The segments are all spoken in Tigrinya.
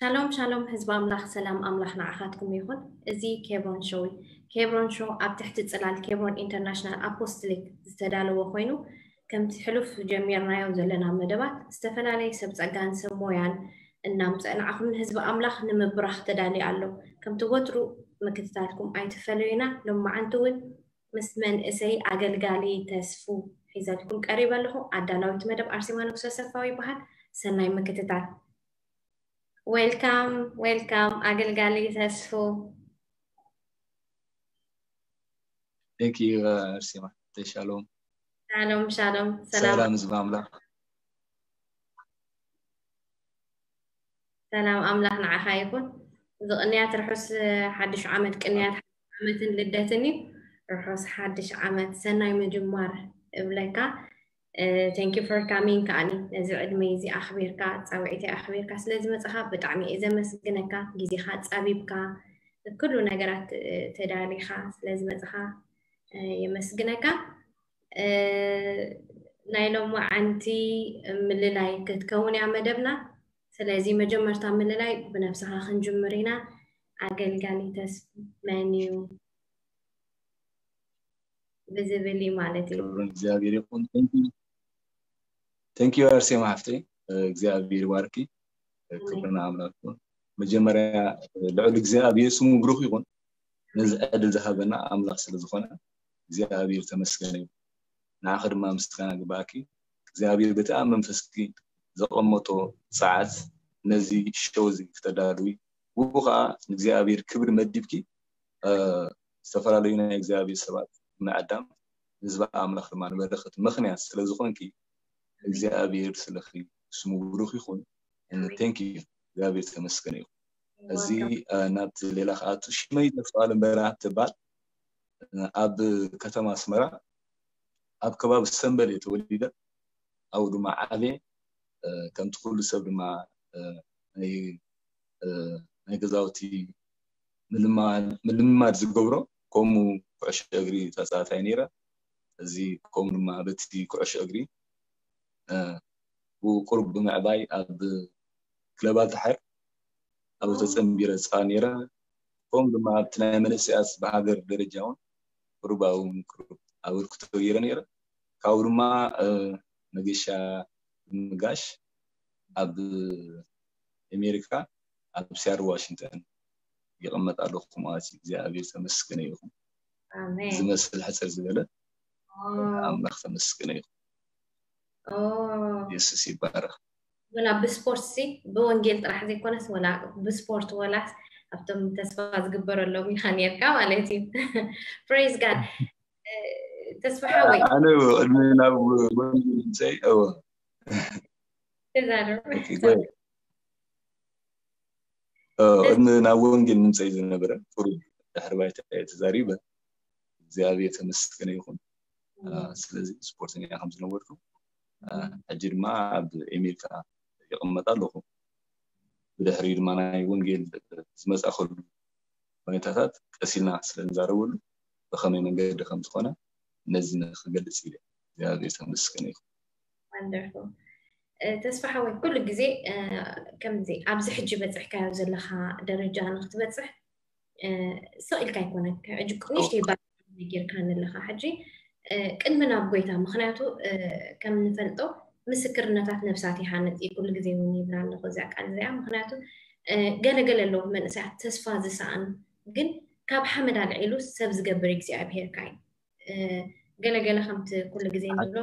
ሻሎም ሻሎም ህዝቢ ኣምላኽ፣ ሰላም ኣምላኽ ንዓኻትኩም ይኹን። እዚ ኬብሮን ሾው እዩ። ኬብሮን ሾው ኣብ ትሕቲ ጽላል ኬብሮን ኢንተርናሽናል ኣፖስትሊክ ዝተዳለወ ኮይኑ፣ ከምቲ ሕሉፍ ጀሚርናዮ ዘለና መደባት ዝተፈላለየ ሰብ ጸጋን ሰብ ሞያን እናምጸእ ንዓኹም ንህዝቢ ኣምላኽ ንምብራኽ ተዳልዩ ኣሎ። ከምቲ ወትሩ ምክትታልኩም ኣይትፈለዩና። ሎማዓንቲ እውን ምስ መንእሰይ ኣገልጋሊ ተስፉ ሒዘልኩም ቀሪበ ኣለኹ። ኣዳላዊት መደብ ኣርሴማ ንጉሰ ሰፋዊ ይበሃል። ሰናይ ምክትታል። ዌልካም ዌልካም ኣገልጋሊ ተስፉ። Thank you ኣርሴማ። ተሻሎም። ሻሎም ሻሎም። ሰላም ሰላም ህዝቢ ኣምላኽ። ሰላም ኣምላኽ ንዓኻ ይኹን። እዚ ቅንያት ርሑስ ሓድሽ ዓመት፣ ቅንያት ሓድሽ ዓመትን ልደትን እዩ። ርሑስ ሓድሽ ዓመት፣ ሰናይ ምጅማር እብለካ። Thank you for coming ከኣኒ ነዚ ዕድመ እዚ ኣኽቢርካ ጻውዒተይ ኣኽቢርካ ስለ ዝመጻኻ ብጣዕሚ እየ ዘመስግነካ። ግዜኻ ጻቢብካ ኩሉ ነገራት ተዳሊኻ ስለ ዝመጻኻ የመስግነካ። ናይ ሎማዓንቲ ምልላይ ክትከውን እያ መደብና። ስለዚ መጀመርታ ምልላይ ብነብስኻ ክንጅምር ኢና። ኣገልጋሊ ተስፉ መን እዩ ብዝብል እዩ ማለት እዩ። ክብሪ እግዚኣብሔር ይኹን። Thank you ኣርሴማ ሓፍተይ፣ እግዚኣብሔር ይባርኪ። ክብሪ ንኣምላኽ ይኹን። መጀመርያ ልዑል እግዚኣብሔር ስሙ ብሩኽ ይኹን። ነዚ ዕድል ዝሃበና ኣምላኽ ስለ ዝኾነ እግዚኣብሔር ተመስገነ ይኹን። ንዓኺ ድማ ምስጋና ግባኣኪ። እግዚኣብሔር በቲ ኣብ መንፈስኪ ዘቐመጦ ሰዓት ነዚ ሾው እዚ ክተዳልዊ፣ ብኡ ኸዓ ንእግዚኣብሔር ክብሪ መዲብኪ፣ ዝተፈላለዩ ናይ እግዚኣብሔር ሰባት ምዕዳም፣ ንህዝቢ ኣምላኽ ድማ ንበረኸት ምኽንያት ስለ ዝኾንኪ እግዚኣብሔር ስለኺ ስሙ ብሩኽ ይኹን። Thank you። እግዚኣብሔር ተመስገነ ይኹን። እዚ ናብቲ ሌላ ክኣቱ፣ ሽመይ ተስፋኣለም በርሀ ትበሃል። ኣብ ከተማ ኣስመራ ኣብ ከባቢ ሰምበል እየ ተወሊደ። ኣብኡ ድማ ዓብየ። ከምቲ ኩሉ ሰብ ድማ ናይ ገዛውቲ ምልምማድ ዝገብሮ፣ ከምኡ ኩዕሾ እግሪ ተፃዋታይ ነይረ። እዚ ከምኡ ድማ በቲ ኩዕሾ እግሪ ብቁሩብ ብምዕባይ ኣብ ክለባት ድሓር ኣብኡ ተፀንቢረ ዝፃወት ነይረ። ከምኡ ድማ ኣብቲ ናይ መንእሰያት ብሃገር ደረጃ እውን ቁሩብ ኣብኡ እውን ቁሩብ ኣበርክቶ ገይረ ነይረ። ካብኡ ድማ መገሻ ምጋሽ ኣብ ኣሜሪካ ኣብ ሲያትል ዋሽንግተን ይቕመጥ ኣለኹ ማለት እዩ። እግዚኣብሔር ተመስገነ ይኹን። ዝመስል ሕፅር ዝበለ ኣምላኽ ተመስገነ ይኹን። የሱስ ይባረኽ። ወላ ብስፖርት ሲ ብወንጌል ጥራሕ ዘይኮነስ ወላ ብስፖርት ወላስ ኣብቶም ተስፋ ዝግበረሎም ኢኻ ነርካ ማለት እዩ። Praise God። ተስፋ ሓወይ ኣነ ቅድሚ ናብ ወንጌል ምምፀይ እወ ተዛረብ። ቅድሚ ናብ ወንጌል ምምፀይ ዝነበረ ቁሩብ ድሕሪ ባይታ እየ ተዛሪበ። እግዚኣብሔር ተመስገነ ይኹን። ስለዚ ስፖርተኛ ከም ዝነበርኩ ሕጂ ድማ ኣብ ኣሜሪካ ይቕመጥ ኣለኹ። ብድሕሪኡ ድማ ናይ ወንጌል ዝመፃእኸሉ ሁኔታታት ቀስ ኢልና ስለ ንዛረበሉ ብኸመይ መንገዲ ከም ዝኾነ ነዚ ንክገልፅ ኢለ። እግዚኣብሔር ተመስገነ ይኹን። Wonderful። ተስፋ ሓወይ ኩሉ ግዜ ከምዚ ኣብዚ ሕጂ በፅሕካዮ ዘለኻ ደረጃ ንክትበፅሕ ስቕ ኢልካ ኣይኮነን። ሕጂ ንእሽተይ ባ ጌርካ ኣለኻ ሕጂ ቅድሚ ናብ ጎይታ፣ ምክንያቱ ከም ንፈልጦ ምስክርነታት ነብሳት ይሃንፅ እዩ ኩሉ ግዜ እውን ይብላ ኣለኹ እዚኣ ቃል እዚኣ። ምክንያቱ ገለገለ ኣለዉ መንእሰያት ተስፋ ዝሰኣኑ፣ ግን ካብ ሓመድ ኣልዒሉ ሰብ ዝገብር እግዚኣብሄርካ እዩ። ገለገለ ከምቲ ኩሉ ግዜ ንብሎ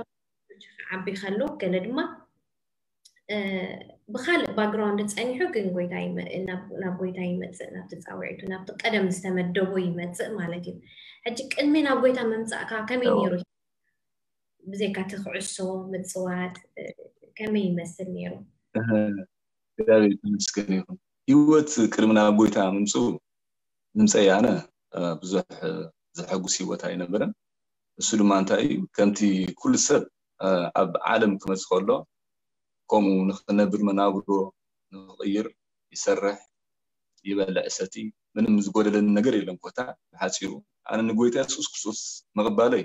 ዓቢ ከሎ፣ ገለ ድማ ብካልእ ባክግራውንድ ፀኒሑ ግን ጎይታ ናብ ጎይታ ይመፅእ፣ ናብቲ ፃውዒቱ ናብቲ ቀደም ዝተመደቦ ይመፅእ ማለት እዩ። ሕጂ ቅድሚ ናብ ጎይታ ምምፃእካ ከመይ ነይሩ? ብዘይካ እቲ ክዕሶ ምፅዋት ከመይ ይመስል ነይሩ? እግዚኣብሔር ይመስገን ይኹን። ህይወት ቅድሚ ናብ ጎይታ ምምፅኡ ምምፀይ ኣነ ብዙሕ ዘሐጉስ ህይወት ኣይነበረን። እሱ ድማ እንታይ እዩ? ከምቲ ኩሉ ሰብ ኣብ ዓለም ክመፅእ ከሎ ከምኡ ንክነብር መናብሮ ንክቕይር ይሰርሕ፣ ይበልዕ፣ ይሰቲ፣ ምንም ዝጎደለኒ ነገር የለን። ኮታ ብሓፂሩ ኣነ ንጎይታ የሱስ ክርስቶስ ምቕባለይ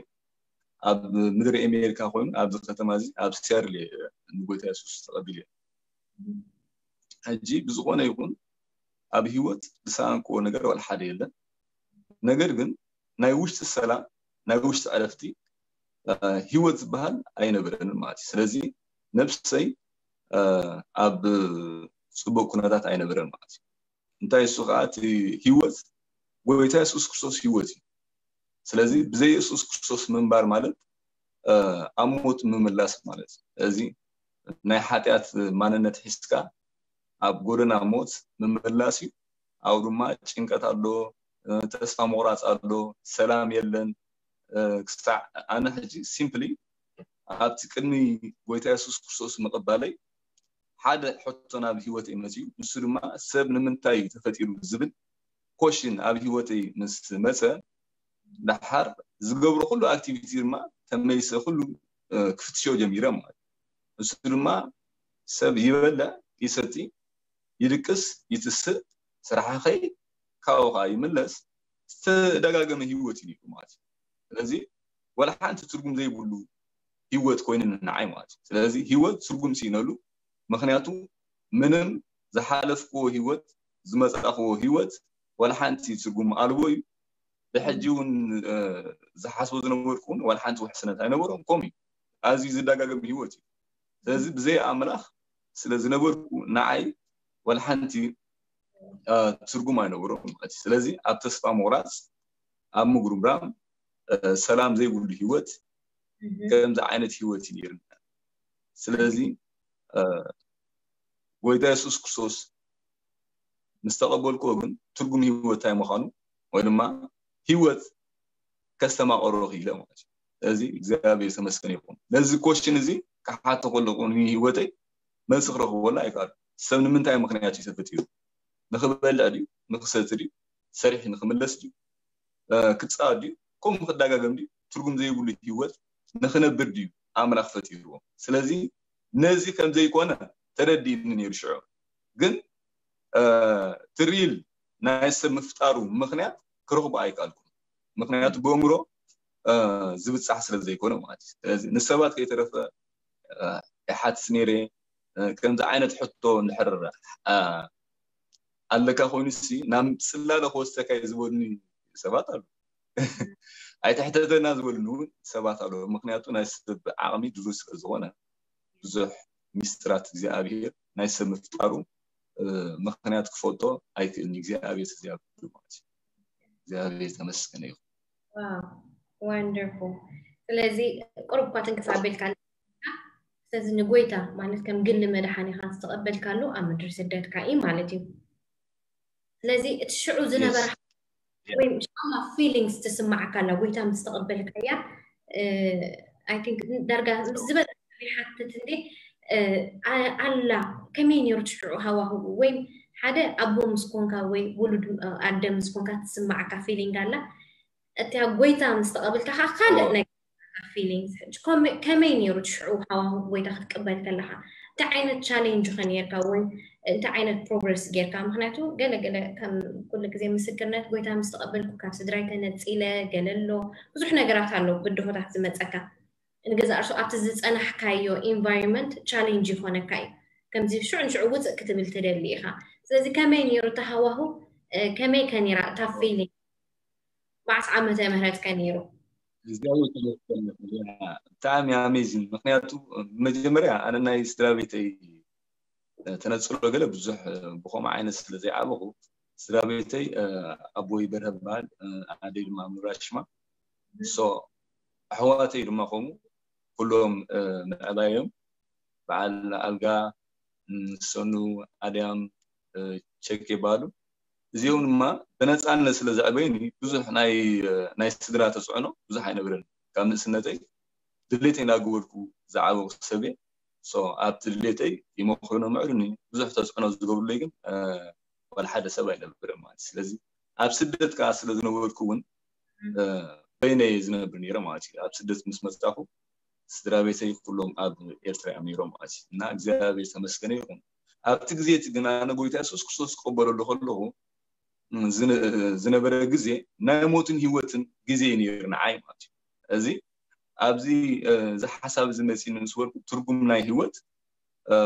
ኣብ ምድሪ ኣሜሪካ ኮይኑ ኣብዚ ከተማ እዚ ኣብ ሲያትል እየ ንጎይታ የሱስ ተቐቢለ። ሕጂ ብዝኾነ ይኹን ኣብ ህይወት ዝሰኣንክዎ ነገር ዋላ ሓደ የለን። ነገር ግን ናይ ውሽጢ ሰላም፣ ናይ ውሽጢ ዕረፍቲ፣ እ፣ ህይወት ዝበሃል ኣይነበረንን ማለት እዩ። ስለዚ ነብሰይ፣ እ፣ ኣብ ጽቡቕ ኩነታት ኣይነበረን ማለት እዩ። እንታይ እሱ ከዓ እቲ ህይወት፣ ጎይታ የሱስ ክርስቶስ ህይወት እዩ። ስለዚ ብዘይ የሱስ ክርስቶስ ምንባር ማለት፣ እ፣ ኣብ ሞት ምምላስ ማለት እዩ። ስለዚ ናይ ሓጢኣት ማንነት ሒዝካ ኣብ ጎደና ሞት ምምላስ እዩ። ኣብኡ ድማ ጭንቀት ኣሎ፣ እ፣ ተስፋ ምቑራፅ ኣሎ፣ ሰላም የለን። እ፣ ክሳዕ ኣነ ሕጂ ሲምፕሊ ኣብቲ ቅድሚ ጎይታ የሱስ ክርስቶስ ምቕባለይ ሓደ ሕቶ ናብ ህይወተይ መፂኡ። ንሱ ድማ ሰብ ንምንታይ እዩ ተፈጢሩ ዝብል ኮሽን ኣብ ህይወተይ ምስ መፀ፣ ደሓር ዝገብሮ ኩሉ ኣክቲቪቲ ድማ ተመሊሰ ኩሉ፣ እ፣ ክፍትሾ ጀሚረ ማለት እዩ። ንሱ ድማ ሰብ ይበልዕ፣ ይሰቲ፣ ይድቅስ፣ ይትስእ፣ ስራሕ ይኸይድ፣ ካብኡ ከዓ ይምለስ፣ ዝተደጋገመ ህይወት እዩ ነይሩ ማለት እዩ። ስለዚ ዋላ ሓንቲ ትርጉም ዘይብሉ ህይወት ኮይኑ ንዓይ ማለት እዩ። ስለዚ ህይወት ትርጉም ስኢነሉ። ምክንያቱ ምንም ዝሓለፍክዎ ህይወት፣ ዝመጻእክዎ ህይወት ዋላ ሓንቲ ትርጉም ኣልቦ እዩ። ብሕጂ እውን፣ እ፣ ዝሓስቦ ዝነበርኩ እውን ዋላ ሓንቲ ውሕስነት ኣይነበሮም። ከምኡ እዩ። ኣዝዩ ዝደጋገም ህይወት እዩ። ስለዚ ብዘይ ኣምላኽ ስለ ዝነበርኩ ንዓይ ዋላ ሓንቲ፣ እ፣ ትርጉም ኣይነበሮም ማለት እዩ። ስለዚ ኣብ ተስፋ ምቑራፅ፣ ኣብ ምጉርምራም፣ እ፣ ሰላም ዘይብሉ ህይወት፣ ከምዚ ዓይነት ህይወት እዩ ነይርና። ስለዚ፣ እ፣ ጎይታ የሱስ ክርስቶስ ምስ ተቐበልክዎ ግን ትርጉም ህይወት እንታይ ምዃኑ ወይ ድማ ህይወት ከስተማቐሮ ክኢለ ማለት እዩ። ስለዚ እግዚኣብሔር ተመስገን ይኹን። ነዚ ኮሽን እዚ ክሓቶ ከለኹ ንህይወተይ መልሲ ክረኽበሉ ኣይከኣሉ። ሰብ ንምንታይ ምኽንያት እዩ ተፈጢሩ? ንኽበልዕ ድዩ? ንኽሰቲ ድዩ? ሰሪሑ ንኽምለስ ድዩ? እ፣ ክፃወት ድዩ? ከምኡ ክደጋገም ድዩ? ትርጉም ዘይብሉ ህይወት ንኽነብር ድዩ ኣምላኽ ፈጢርዎ? ስለዚ ነዚ ከም ዘይኮነ ተረዲእኒ ነይሩ ሽዑ። ግን፣ እ፣ ትሪል ናይ ሰብ ምፍጣሩ ምኽንያት ክረኽቦ ኣይከኣልኩን። ምኽንያቱ ብእምሮ፣ እ፣ ዝብጻሕ ስለ ዘይኮነ ማለት እዩ። ስለዚ ንሰባት ከይተረፈ፣ እ፣ ይሓትት ነይረ። እ፣ ከምዚ ዓይነት ሕቶ እንድሕር፣ እ፣ ኣለካ ኮይኑሲ ናብ ጽላለ ክወስደካ እዩ ዝበሉኒ ሰባት ኣለዉ። ኣይትሕተተና ዝበሉኒ እውን ሰባት ኣለዉ። ምኽንያቱ ናይ ሰብ ዓቕሚ ድሩት ስለ ዝኾነ ብዙሕ ሚስጥራት እግዚኣብሔር ናይ ሰብ ምፍጣሩ፣ እ፣ ምኽንያት ክፈልጦ ኣይክእልን። እግዚኣብሔር እግዚኣብሔር ማለት እዩ። እግዚኣብሔር ተመስገነ ይኹን። ዋው፣ ዋንደርፉል። ስለዚ ቁሩብ እኳ ትንክፍ ኣቢልካ፣ ስለዚ ንጎይታ ማለት ከም ግሊ መድሓኒኻ ዝተቐበልካሉ ኣብ ምድሪ ስደትካ እዩ ማለት እዩ። ስለዚ እቲ ሽዑ ዝነበረ Yes. ወይ ሽዑ ፊሊንግስ ትስማዓካ ኣላ፣ ጎይታ ምስ ተቐበልካያ፣ እ፣ I think ዳርጋ ምስ ዝበለጸ ይሓትት እንዴ፣ እ፣ ኣ-፣ ኣላ፣ ከመይ ነይሩ እቲ ሽዑ ሃዋህው? ወይ ሓደ ኣቦ ምስ ኮንካ ወይ ውሉድ፣ እ፣ ኣደ ምስ ኮንካ ትስማዓካ ፊሊንግ ኣላ። እቲ ኣብ ጎይታ ምስ ተቐበልካ ከዓ ካልእ ኦ። ናይ ፊሊንግስ። ሕጂ ከመይ፣ ከመይ ነይሩ እቲ ሽዑ ሃዋህው ጎይታ ክትቅበል ከለኻ? እንታይ ዓይነት ቻሌንጅ ኸ ነይርካ ወይ እንታይ ዓይነት ፕሮግረስ ጌርካ? ምኽንያቱ ገለ ገለ ከም ኩሉ ግዜ ምስክርነት ጎይታ ምስ ተቐበልኩ ካብ ስድራይ ተነጺለ ገለ ኣሎ፣ ብዙሕ ነገራት ኣሎ ብድሆታት ዝመጸካ። ንገዛእ ርእሱ ኣብቲ ዝጸናሕካዮ ኢንቫይሮንመንት ቻሌንጅ ይኾነካ እዩ። ከምዚ ሽዑ ንሽዑ ውጽእ ክትብል ትደሊ ኢኻ። ስለዚ ከመይ ነይሩ እቲ ሃዋህው? እ፣ ከመይ ከ ነይራ እታ ፊሊንግ? መዓስ ዓመተ ምህረት ከ ነይሩ? እግዚኣብሔር ተመስገን። ያ፣ ብጣዕሚ ኣሜዚንግ። ምኽንያቱ መጀመርያ ኣነ ናይ ስድራ ቤተይ፣ እ፣ ተነጽሎ ገለ ብዙሕ፣ እ፣ ብኸምኡ ዓይነት ስለ ዘይዓበኹ፣ ስድራ ቤተይ፣ እ፣ ኣቦይ በርሀ በሃል፣ እ፣ ኣደይ ድማ ምብራሽማ። ሶ ኣሕዋተይ ድማ ከምኡ ኩሎም፣ እ፣ ምዕባዮም በዓል ኣልጋ፣ ም፣ ሰኑ፣ ኣድያም፣ እ፣ ቸክ ይበሃሉ። እዚኦም ድማ ብነፃነት ስለ ዘዕበዩኒ ብዙሕ ናይ፣ እ፣ ናይ ስድራ ተፅዕኖ ብዙሕ ኣይነበረን። ካብ ንእስነተይ ድሌተይ እናገበርኩ ዝዓበኹ ሰብ እየ። ሶ ኣብቲ ድሌተይ ይመኽሩኒ፣ ይምዕዱኒ። ብዙሕ ተፅዕኖ ዝገብሩለይ ግን፣ እ፣ ዋላ ሓደ ሰብ ኣይነበረን ማለት እዩ። ስለዚ ኣብ ስደት ከዓ ስለ ዝነበርኩ እውን፣ እ፣ በይነይ እየ ዝነብር ነይረ ማለት እዩ። ኣብ ስደት ምስ መፃኹ ስድራ ቤተይ ኩሎም ኣብ ኤርትራ እዮም ነይሮም ማለት እዩ። እና እግዚኣብሔር ተመስገነ ይኹን። ኣብቲ ግዜ እቲ ግን ኣነ ጎይታ የሱስ ክርስቶስ ክቕበለሉ ከለኹ፣ ም፣ ዝነ-፣ ዝነበረ ግዜ ናይ ሞትን ህይወትን ግዜ እዩ ነይሩ ንዓይ ማለት እዩ። እዚ ኣብዚ፣ እ፣ እዚ ሓሳብ እዚ መፂኒ ምስ በልኩ ትርጉም ናይ ህይወት፣ እ፣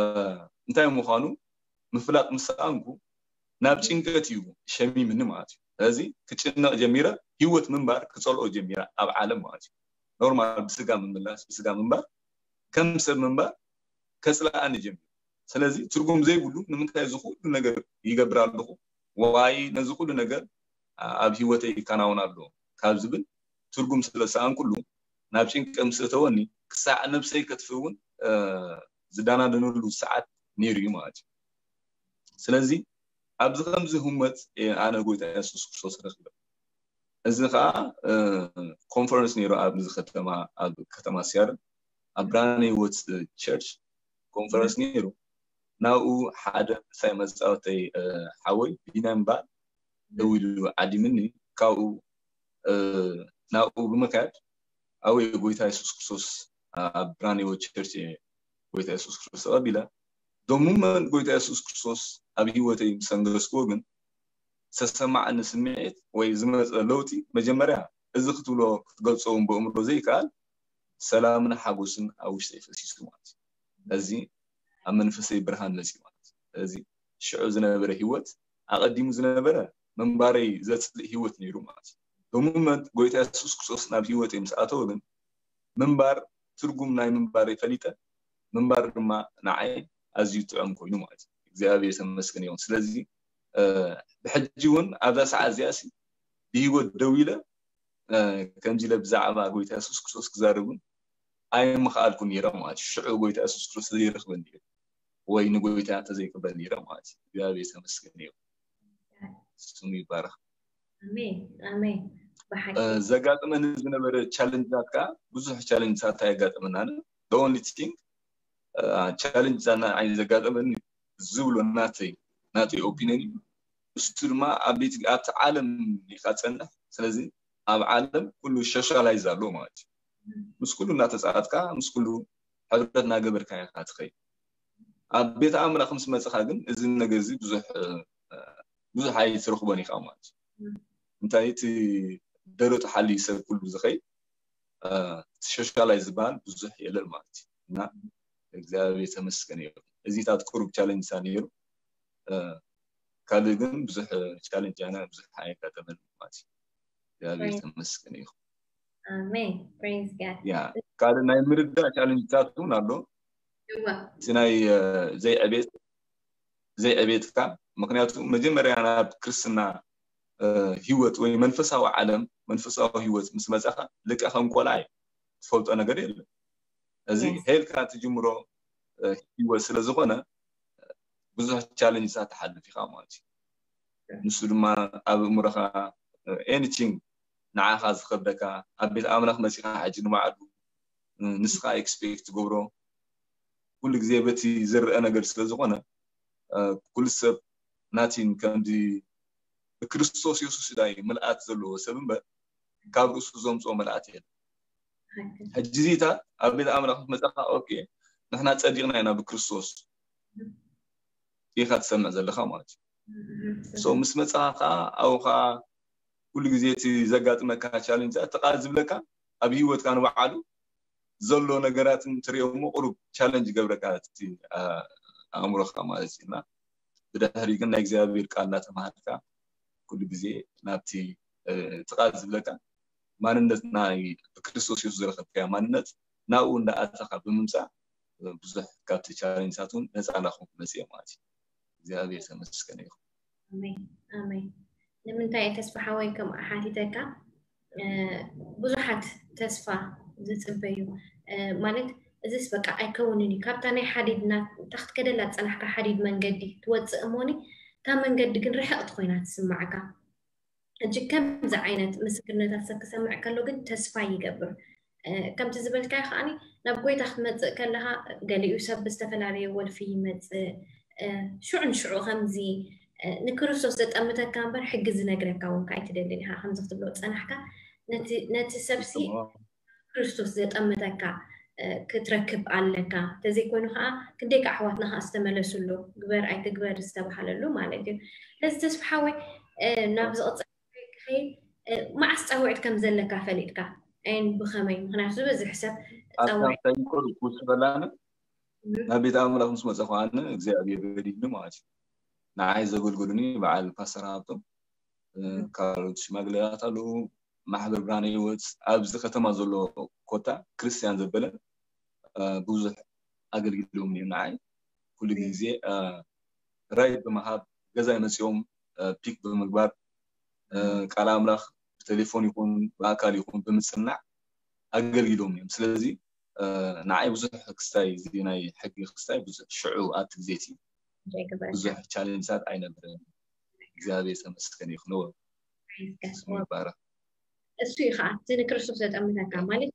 እንታይ ምዃኑ ምፍላጥ ምስ ሰኣንኩ ናብ ጭንቀት እዩ ሸሚምኒ ማለት እዩ። ስለዚ ክጭነቕ ጀሚረ፣ ህይወት ምንባር ክጸልኦ ጀሚረ ኣብ ዓለም ማለት እዩ። ኖርማል ብስጋ ምምላስ፣ ብስጋ ምንባር፣ ከም ሰብ ምንባር ከጽልኣኒ ጀሚሩ። ስለዚ ትርጉም ዘይብሉ ንምንታይ እዚ ኩሉ ነገር ይገብር ኣለኹ፣ ዋይ ነዚ ኩሉ ነገር ኣብ ህይወተይ ይከናወን ኣሎ ካብ ዝብል ትርጉም ስለ ዝሰኣንኩሉ ናብ ጭንቀት ምስ እተወኒ ክሳዕ ነብሰይ ከጥፍእ እውን ዝዳናደነሉ ሰዓት ነይሩ እዩ ማለት እዩ። ስለዚ ኣብዚ ከምዚ ህሞት ኣነ ጎይታ የሱስ ክርስቶስ ረኪበ። እዚ ከዓ ኮንፈረንስ ነይሩ ኣብዚ ከተማ፣ ኣብ ከተማ ሲያትል ኣብ ብርሃነ ህይወት ቸርች ኮንፈረንስ ነይሩ። ናብኡ ሓደ ምሳይ መፃወተይ ሓወይ ቢናም ባል ደው ኢሉ ዓዲምኒ። ካብኡ ናብኡ ብምካድ ኣው ጎይታ የሱስ ክርስቶስ ኣብ ብርሃነ ህይወት ቸርች ጎይታ የሱስ ክርስቶስ ተቐቢለ። ዶሙመን ጎይታ የሱስ ክርስቶስ ኣብ ህይወተይ ምስ ኣንገስክዎ ግን ዝተሰማዓኒ ስምዒት ወይ ዝመፀ ለውጢ መጀመርያ እዚ ክትብሎ ክትገልፆ እውን ብእምሮ ዘይከኣል ሰላምን ሓጎስን ኣብ ውሽጠይ ፈሲሱ ማለት እዩ። እዚ ኣብ መንፈሰይ ብርሃን መፂኡ ማለት እዩ። እዚ ሽዑ ዝነበረ ህይወት ኣቐዲሙ ዝነበረ ምንባረይ ዘፅልእ ህይወት ነይሩ ማለት እዩ። ዶሙመን ጎይታ የሱስ ክርስቶስ ናብ ህይወተይ ምስ ኣተወ ግን ምንባር ትርጉም ናይ ምንባር ፈሊጠ ምንባር ድማ ንዓይ ኣዝዩ ጥዑም ኮይኑ ማለት እዩ። እግዚኣብሔር ተመስገን ይኹን። ስለዚ ብሕጂ እውን ኣብዛ ሰዓት እዚኣ ሲ ብህይወት ደው ኢለ ከምዚ ኢለ ብዛዕባ ጎይታ የሱስ ክርስቶስ ክዛረብ እውን ኣይምኽኣልኩን ነይረ ማለት እዩ። ሽዑ ጎይታ የሱስ ክርስቶስ ዘይረኽበኒ ነይሩ ወይ ንጎይታ ተዘይቅበል ነይረ ማለት እዩ። እግዚኣብሔር ተመስገን ይኹን። ስሙ ይባረኽ። ኣሜን ኣሜን። ብሓቂ ዘጋጥመኒ ዝነበረ ቻለንጅታት ከዓ ብዙሕ ቻለንጅታት ኣየጋጠመናን። The only thing ቻለንጅ ንዓይ ዘጋጠመኒ ዝብሎ ናተይ ናተይ ኦፒኒየን እዩ። እሱ ድማ ኣብ ቤት ኣብቲ ዓለም ኢኻ ትጸንሕ። ስለዚ ኣብ ዓለም ኩሉ ሶሻላይዝ ኣሎ ማለት እዩ። ምስ ኩሉ እናተጻወትካ ምስ ኩሉ ሕብረት እናገበርካ ኢኻ ትኸይድ። ኣብ ቤት ኣእምሮ ምስ መጽኻ ግን እዚ ነገር እዚ ብዙሕ ብዙሕ ኣይትረኽቦን ኢኻ ማለት እዩ። እንታይ እቲ ደረቱ ሓልዩ ሰብ ኩሉ ዝኸይድ ሶሻላይዝ ዝበሃል ብዙሕ የለን ማለት እዩ። እና እግዚኣብሔር ተመስገን እዩ። እዚታት ቁሩብ ቻለንጅ ነይሩ። ካልእ ግን ብዙሕ ቻለንጅ ኣነ ብዙሕ ኣየጋጠመን ማለት እዩ። እግዚኣብሔር ተመስገን እዩ። ኣሜን። Praise God። ያ ካልእ ናይ ምርዳእ ቻለንጅታት እውን ኣሎ። እወ እቲ ናይ ዘይዕቤት ዘይዕቤትካ ምክንያቱ መጀመርያ ናብ ክርስትና ህይወት ወይ መንፈሳዊ ዓለም መንፈሳዊ ህይወት ምስ መጻኻ ልክዕ ከም ቆልዓ እዩ። ትፈልጦ ነገር የለን። እዚ ሄልካ ትጅምሮ ህይወት ስለ ዝኾነ ብዙሕ ቻለንጅታት ትሓልፍ ኢኻ ማለት እዩ። ንሱ ድማ ኣብ እምሮኻ ኤኒቲንግ ንዓኻ ዝኸብደካ ኣብ ቤት ኣምላኽ መጺኻ ሕጂ ንባዕሉ ንስኻ ኤክስፔክት ትገብሮ ኩሉ ግዜ በቲ ዝረአ ነገር ስለ ዝኾነ ኩሉ ሰብ ናቲን ከምዚ ብክርስቶስ የሱስ ዳይ ምልኣት ዘለዎ ሰብ እምበር ካብ ርእሱ ዘምፅኦ መልኣት የለን። ሕጂ ዚታት ኣብ ቤት ኣምላኽ መፀኻ ኦኬ ንሕና ፀዲቕና ኢና ብክርስቶስ ኢኻ ትሰምዕ ዘለኻ ማለት እዩ። ሶ ምስ መፅኻ ከዓ ኣብኡ ከዓ ኩሉ ግዜ እቲ ዘጋጥመካ ቻለንጅ ተቃ ዝብለካ ኣብ ህይወትካ ንባዕሉ ዘሎ ነገራት እንትሪኦ እሞ ቁሩብ ቻለንጅ ይገብረካ እቲ ኣእምሮካ ማለት እዩ። እና ብድሕሪ ግን ናይ እግዚኣብሔር ቃል እናተማሃርካ ኩሉ ግዜ ናብቲ እቲ ቃል ዝብለካ ማንነት ናይ ብክርስቶስ የሱስ ዝረከብካዮ ማንነት ናብኡ እንዳኣተካ ብምምፃእ ብዙሕ ካብቲ ቻለንጅታት እውን ነፃ እናኮንኩ መፅየ ማለት እዩ። እግዚኣብሔር ተመስገን ይኹን። ኣሜን ኣሜን። ንምንታይ ተስፋ ሓወይ ከም ሓቲተካ ብዙሓት ተስፋ ዝፅበዩ ማለት እዚስ በቃ ኣይከውንን እዩ ካብታ ናይ ሓዲድ እታ ክትከደላ ዝፀናሕካ ሓዲድ መንገዲ ትወፅእ እሞኒ እታ መንገዲ ግን ርሕቕቲ ኮይና ትስማዓካ። እጅግ ከምዚ ዓይነት ምስክርነታት ሰብ ክሰምዕ ከሎ ግን ተስፋ ይገብር። ከምቲ ዝበልካዮ ከዓኒ ናብ ጎይታ ክትመፅእ ከለካ ገሊኡ ሰብ ብዝተፈላለየ ወልፊ ይመፅእ። ሽዑ ንሽዑ ከምዚ ንክርስቶስ ዘጠምተካ እምበር ሕጊ ዝነግረካ እውን ከኣ ኣይትደልን ኢኻ። ከምዚ ክትብሎ ዝጸናሕካ ነቲ ነቲ ሰብሲ ክርስቶስ ዘጠምተካ ክትረክብ ኣለካ። እንተዘይኮይኑ ከዓ ክንደይ ከዓ ኣሕዋትና ከዓ ዝተመለሱሉ ግበር ኣይትግበር ዝተባሃለሉ ማለት እዩ። ስለዚ ተስፋ ሓወይ ናብ ዝቕፅል ክኸይድ መዓስ ፃውዒት ከም ዘለካ ፈሊጥካ ኣይን ብኸመይ? ምክንያቱ ዝበዝሕ ሰብ ፃውዒት ኣታንታይ ቁሩብ ክውስኸላነ ናብ ቤት ኣምላኽ ምስ መፀ ከዓነ እግዚኣብሔር ረዲድኒ ማለት እዩ። ንዓይ ዘገልገሉኒ በዓል ፓስተር ሃብቶም፣ እ፣ ካልኦት ሽማግሌታት ኣለዉ፣ ማሕበር ብርሃን ህይወት፣ ኣብዚ ከተማ ዘሎ ኮታ ክርስቲያን ዘበለ፣ እ፣ ብዙሕ ኣገልጊሎም እዮም ንዓይ። ኩሉ ግዜ፣ እ፣ ራይድ ብምሃብ፣ ገዛይ መጺኦም፣ እ፣ ፒክ ብምግባር፣ እ፣ ቃል ኣምላኽ ብቴሌፎን ይኹን ብኣካል ይኹን ብምጽናዕ ኣገልጊሎም እዮም። ስለዚ፣ እ፣ ንዓይ ብዙሕ ክስታይ፣ እዚ ናይ ሕጊ ክስታይ ብዙሕ ሽዑ ኣብቲ ግዜ እቲ ብዙሕ ቻሌንጅታት ኣይነበረን። እግዚኣብሔር ተመስገን ይኹን። ስሙ ይባረክ። እሱ እዩ ከዓ እቲ ንክርስቶስ ዘጠምተካ፣ ማለት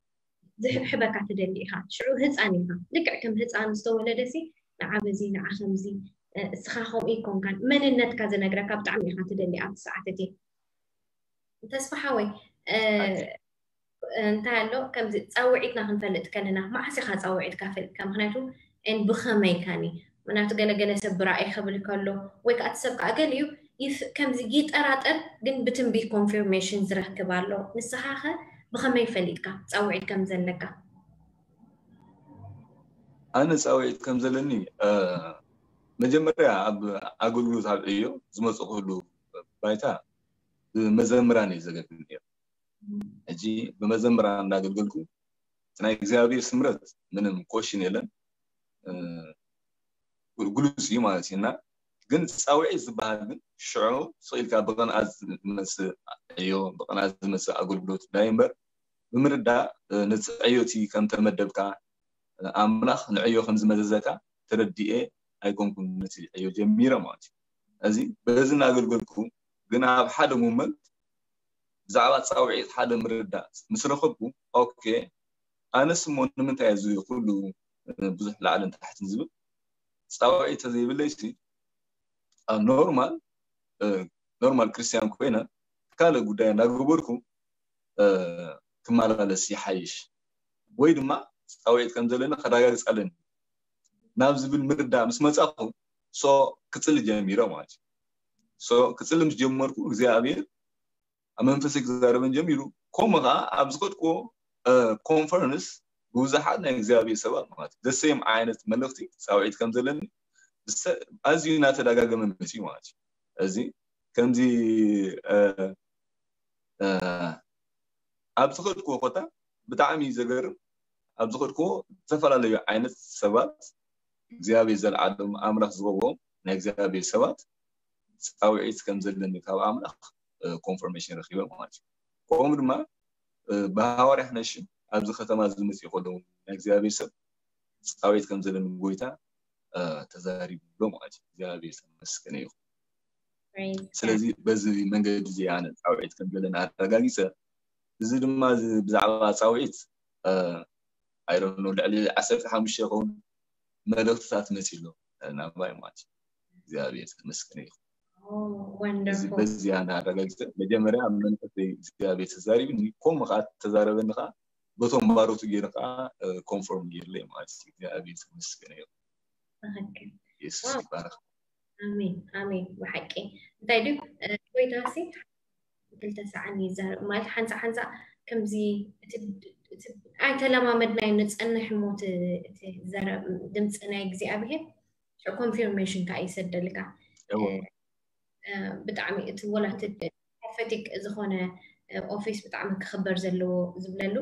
ዝሕብሕበካ ትደሊ ኢኻ። ሽዑ ህፃን ኢኻ፣ ልክዕ ከም ህፃን ዝተወለደ ሲ ንዓ በዚ ንዓ ከምዚ፣ እ፣ እስኻ ከምኡ ይኮንካን መንነትካ ዝነግረካ ብጣዕሚ ኢኻ ትደሊ ኣብቲ ሰዓት እቲ። ተስፋ ሓወይ፣ እ፣ እንታይ ኣሎ ከምዚ ፃውዒትና ክንፈልጥ ከለና መዓስ ኢኻ ፃውዒትካ ፈሊጥካ? ምክንያቱ ን ብኸመይ ካኒ ምክንያቱ ገለገለ ሰብ ብራእይ ክብል ከሎ ወይ ከዓ እቲ ሰብ ከዓ ገሊኡ ይፍ-፣ ከምዚ ይጠራጠር፣ ግን ብትንቢት ኮንፊርሜሽን ዝረክብ ኣሎ። ንስኻ ኸ ብኸመይ ፈሊጥካ ፃውዒት ከም ዘለካ? ኣነ ፃውዒት ከም ዘለኒ፣ እ፣ መጀመርያ ኣብ ኣገልግሎት ኣብ ዕዮ ዝመፅእ ኩሉ ባይታ ብመዘምራን እዩ ዘገልግል ነይሩ። ሕጂ ብመዘምራን እንዳገልገልኩ እቲ ናይ እግዚኣብሔር ስምረት ምንም ኮሽን የለን። እ፣ ግሉጽ እዩ ማለት እዩ። እና ግን ጻውዒት ዝበሃል ግን ሽዑ ስቕ ኢልካ ብቕንኣት ዝመጽእ ዕዮ፣ ብቕንኣት ዝመጽእ ኣገልግሎት ዳይ እምበር ብምርዳእ፣ እ፣ ነቲ ዕዮ እቲ ከም ተመደብካ፣ እ፣ ኣምላኽ ንዕዮ ከም ዝመዘዘካ ተረዲኤ ኣይኮንኩን ነቲ ዕዮ ጀሚረ ማለት እዩ። እዚ በዚ እናገልገልኩ ግን ኣብ ሓደ ሞመንት ብዛዕባ ጻውዒት ሓደ ምርዳእ ምስ ረኸብኩ፣ ኦኬ፣ ኣነስ እሞ ንምንታይ እዚ ኩሉ፣ እ፣ ብዙሕ ላዕልን ታሕትን ዝብል ጻውዒት ተዘይብለይሲ፣ ኣብ ኖርማል፣ እ፣ ኖርማል ክርስትያን ኮይነ ካልእ ጉዳይ እናገበርኩ፣ እ፣ ክመላለስ ይሓይሽ፣ ወይ ድማ ጻውዒት ከም ዘለኒ ከረጋግጽ ኣለኒ ናብ ዝብል ምርዳእ ምስ መጻኹ፣ ሶ ክጽሊ ጀሚረ ማለት እዩ። ሶ ክጽሊ ምስ ጀመርኩ እግዚኣብሔር ኣብ መንፈሰይ ክዛረበን ጀሚሩ። ከምኡ ኸዓ ኣብ ዝኸድኩዎ፣ እ፣ ኮንፈረንስ ብብዙሓት ናይ እግዚኣብሔር ሰባት ማለት እዩ፣ ዘሰዮም ዓይነት መልእኽቲ ጻውዒት ከም ዘለኒ ብሰ-፣ ኣዝዩ እናተደጋገመ መጺኡ ማለት እዩ። እዚ ከምዚ፣ እ፣ እ፣ ኣብ ዝኸድኩዎ ቦታ ብጣዕሚ እዩ ዘገርም። ኣብ ዝኸድኩዎ ዝተፈላለዩ ዓይነት ሰባት እግዚኣብሔር ዘልዓሎም ኣምላኽ ዝቐብኦም ናይ እግዚኣብሔር ሰባት ጻውዒት ከም ዘለኒ ካብ ኣምላኽ፣ እ፣ ኮንፈርሜሽን ረኺበ ማለት እዩ። ከምኡ ድማ፣ እ፣ ብሃዋርያ ክነሽም ኣብዚ ከተማ እዚ መጺኡ ከለዉ ናይ እግዚኣብሔር ሰብ ጻውዒት ከም ዘለኒ ጎይታ፣ እ፣ ተዛሪቡ ኣሎ ማለት እዩ። እግዚኣብሔር ዝተመስገነ ይኹን። Praise God። ስለዚ በዚ መንገዲ እዚ ኣነ ጻውዒት ከም ዘለኒ ኣረጋጊጸ። እዚ ድማ እዚ ብዛዕባ ጻውዒት፣ እ፣ I don't know፣ ልዕሊ ዓሰርተ ሓሙሽተ ይኸውን መልእኽትታት መጺኡ ኣሎ ናባይ ማለት እዩ። እግዚኣብሔር ዝተመስገነ ይኹን። Oh, እዚ wonderful። በዚ ኣነ ኣረጋጊጸ። መጀመርያ ኣብ መንፈሰይ እግዚኣብሔር ተዛሪብኒ፣ ከምኡ ኸዓ ተዛረበኒ ኸዓ በቶም ባሮቱ ገይረ ኸዓ፣ እ፣ ኮንፎርም ገይርለይ ማለት እዩ። እግዚኣብሔር ዝተመስገነ ይኹን። ትኽክል። የሱስ ዋው። ይባረኽ። ኣሜን፣ ኣሜን። ብሓቂ እንታይ ድዩ፣ እ፣ ጎይታሲ ክልተ ሰዓን ይዛረብ ማለት ሓንሳ ሓንሳ ከምዚ እቲ፣ እቲ ኣይተለማመድናዮ ንጸንሕ እሞ እቲ፣ እቲ ዘረብ ድምፂ ናይ እግዚኣብሔር ሽዑ ኮንፊርሜሽን ከዓ ይሰደልካ። እወ። እ፣ እ፣ ብጣዕሚ እቲ ወላ እቲ ፕሮፌቲክ ዝኾነ፣ እ፣ ኦፊስ ብጣዕሚ ክኽበር ዘለዎ ዝብለሉ፣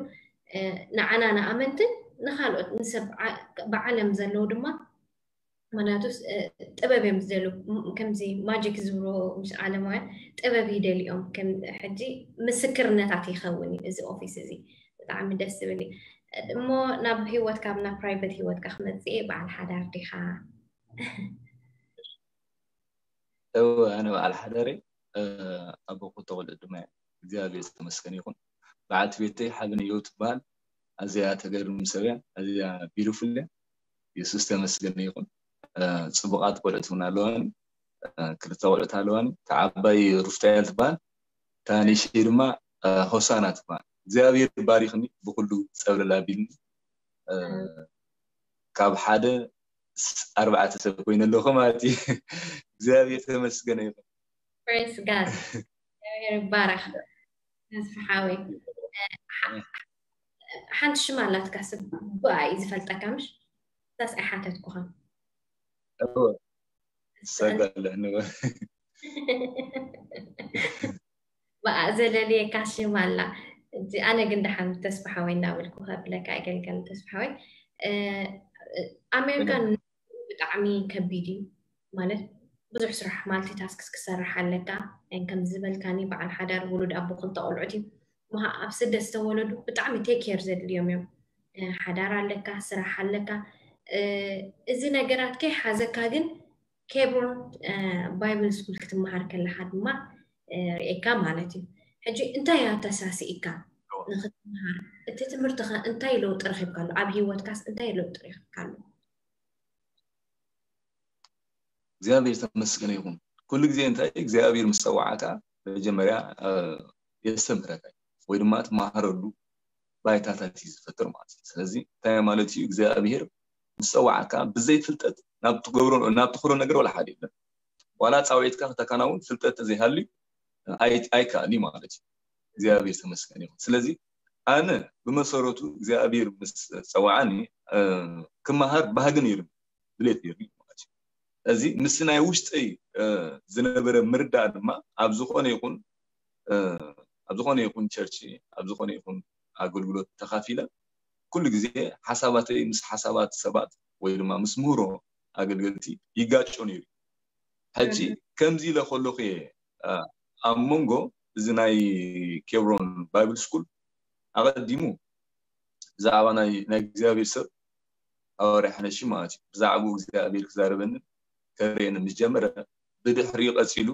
እ፣ ንዓና ንኣመንትን ንኻልኦት ንሰብ ዓ-፣ ብዓለም ዘለዉ ድማ ምክንያቱስ፣ እ፣ ጥበብ እዮም ዝደልዩ። ም-፣ ከምዚ ማጂክ ዝብሎ ምስ ዓለማውያን ጥበብ ይደልዮም። ከም ሕጂ ምስክርነታት ይኸውን እዩ እዚ ኦፊስ እዚ። ብጣዕሚ ደስ ዝብል እዩ። እሞ ናብ ህይወትካ፣ ናብ ፕራይቬት ህይወትካ ክመጽእ እየ። በዓል ሓዳር ዲኻ? እወ፣ ኣነ በዓል ሓዳር እየ። እ፣ ኣቦ ክልተ ቆልዑ ድማ እየ። እግዚኣብሔር ዝተመስገነ ይኹን። በዓልቲ ቤተይ ሓበነየው ትበሃል። ኣዝያ ተገርም ሰብ እያ። ኣዝያ ቢዩቲፉል እያ። የሱስ ተመስገነ ይኹን። እ፣ ጽቡቓት ቆልዑት እውን ኣለዋኒ። እ፣ ክልተ ቆልዑት ኣለዋኒ። እታ ዓባይ ሩፍታኤል ትበሃል። እታ ንእሽተይ ድማ፣ እ፣ ሆሳና ትበሃል። እግዚኣብሔር ባሪኽኒ፣ ብኹሉ ጸብለል ኣቢልኒ። እ፣ ካብ ሓደ ስ-፣ ኣርባዕተ ሰብ ኮይነ ኣለኹ ማለት እዩ። እግዚኣብሔር ተመስገነ ይኹን። Praise God። እግዚኣብሔር ይባረኽ። ተስፋ ሓወይ። እ፣ ሓ-፣ ሓንቲ ሽም ኣላትካ ሰብ ብኣ እዩ ዝፈልጠካ፣ ምሽ? እዛስ ኣይሓተትኩኻን። እወ። ሰጋለ ንበል። ብኣ ዘለልየካ ሽም ኣላ። ኣነ ግን ደሓን ተስፋ ሓወይ እንዳበልኩ ከብለካ ኣገልጋሊ ተስፋ ሓወይ። ኣሜሪካን ብጣዕሚ ከቢድ እዩ ማለት ብዙሕ ስራሕ ማልቲ ታስክስ ክሰርሕ ኣለካ። ከም ዝበልካኒ በዓል ሓዳር ውሉድ ኣቦ ክልተ ቆልዑት እዩ። ኣብ ስደት ዝተወለዱ ብጣዕሚ ቴክ ኬር ዘድልዮም እዮም። ሓዳር ኣለካ፣ ስራሕ ኣለካ። እዚ ነገራት ከይሓዘካ ግን ኬብሮን ባይብል ስኩል ክትመሃር ከለካ ድማ ርኤካ ማለት እዩ። ሕጂ እንታይ ኣተሳሲእካ ንክትመሃር? እቲ ትምህርቲ ከ እንታይ ለውጢ ረኺብካሉ? ኣብ ሂወትካስ እንታይ ለውጢ ረኺብካሉ? እግዚኣብሔር ተመስገነ ይኹን። ኩሉ ግዜ እንታይ እግዚኣብሔር ምስ ጸዋዓካ መጀመርያ የስተምህረካ ወይ ድማ ትመሃረሉ ባይታታት እዩ ዝፈጥር ማለት እዩ። ስለዚ እንታይ ማለት እዩ? እግዚኣብሔር ምስ ጸዋዓካ ብዘይ ፍልጠት ናብ ትገብሮ ናብ ትኽእሎ ነገር ወላ ሓደ የለን። ዋላ ጻውዒትካ ከተከናውን ፍልጠት ተዘይሃልዩ ኣይከኣል ማለት እዩ። እግዚኣብሔር ተመስገን ይኹን። ስለዚ ኣነ ብመሰረቱ እግዚኣብሔር ምስ ጸዋዓኒ ክመሃር ባህጊ ነይሩ ድሌት ነይሩ ማለት እዩ። እዚ ምስ ናይ ውሽጠይ ዝነበረ ምርዳእ ድማ ኣብ ዝኾነ ይኹን ኣብ ዝኾነ ይኹን ቸርች ኣብ ዝኾነ ይኹን ኣገልግሎት ተኻፊለ ኩሉ ግዜ ሓሳባተይ ምስ ሓሳባት ሰባት ወይ ድማ ምስ ምህሮ ኣገልገልቲ ይጋጮ ነይሩ። ሕጂ ከምዚ ኢለ ከለኹ እየ ኣብ መንጎ እዚ ናይ ኬብሮን ባይብል ስኩል ኣቐዲሙ ብዛዕባ ናይ እግዚኣብሔር ሰብ ሃዋርያ ሓነሺ ማለት እዩ ብዛዕባኡ እግዚኣብሔር ክዛረበንን ከርእየንን ምስ ጀመረ ብድሕሪኡ ቀጺሉ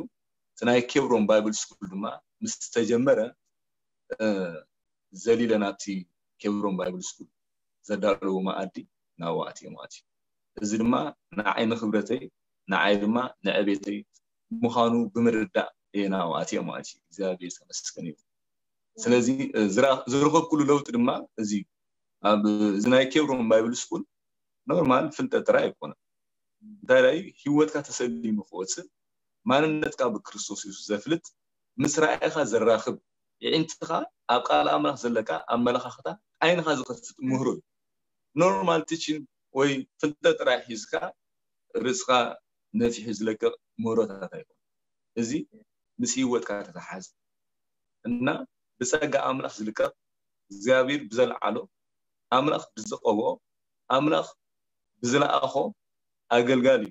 እቲ ናይ ኬብሮን ባይብል ስኩል ድማ ምስ ተጀመረ ዘሊለ ናብቲ ኬብሮን ባይብል ስኩል ዘዳለዎ መኣዲ ናብኡ ኣትየ ማለት እዩ። እዚ ድማ ንዓይ ንክብረተይ ንዓይ ድማ ንዕቤተይ ምዃኑ ብምርዳእ እየ ናብኡ ኣትየ ማለት እዩ። እግዚኣብሔር ተመስገን እዩ። ስለዚ ዝረኸብኩሉ ለውጢ ድማ እዚ ኣብ እዚ ናይ ኬብሮን ባይብል ስኩል ኖርማል ፍልጠት ጥራይ ኣይኮነን። እንታይ ዳይ ህይወትካ ተሰሊሙ ክወፅእ ማንነትካ ብክርስቶስ የሱስ ዘፍልጥ ምስ ራእይኻ ዘራኽብ የዒንትኻ ኣብ ቃል ኣምላኽ ዘለካ ኣመለኻኽታ ዓይንኻ ዝኸፍት ምህሮ እዩ። ኖርማል ቲቺን ወይ ፍልጠት ጥራይ ሒዝካ ርእስኻ ነፊሑ ዝለቅቕ ምህሮታት ኣይኮን። እዚ ምስ ህይወትካ ተተሓዘ እና ብጸጋ ኣምላኽ ዝልቀቕ እግዚኣብሔር ብዘልዓሎ ኣምላኽ ብዝቐብኦ ኣምላኽ ብዝለኣኾ ኣገልጋሊ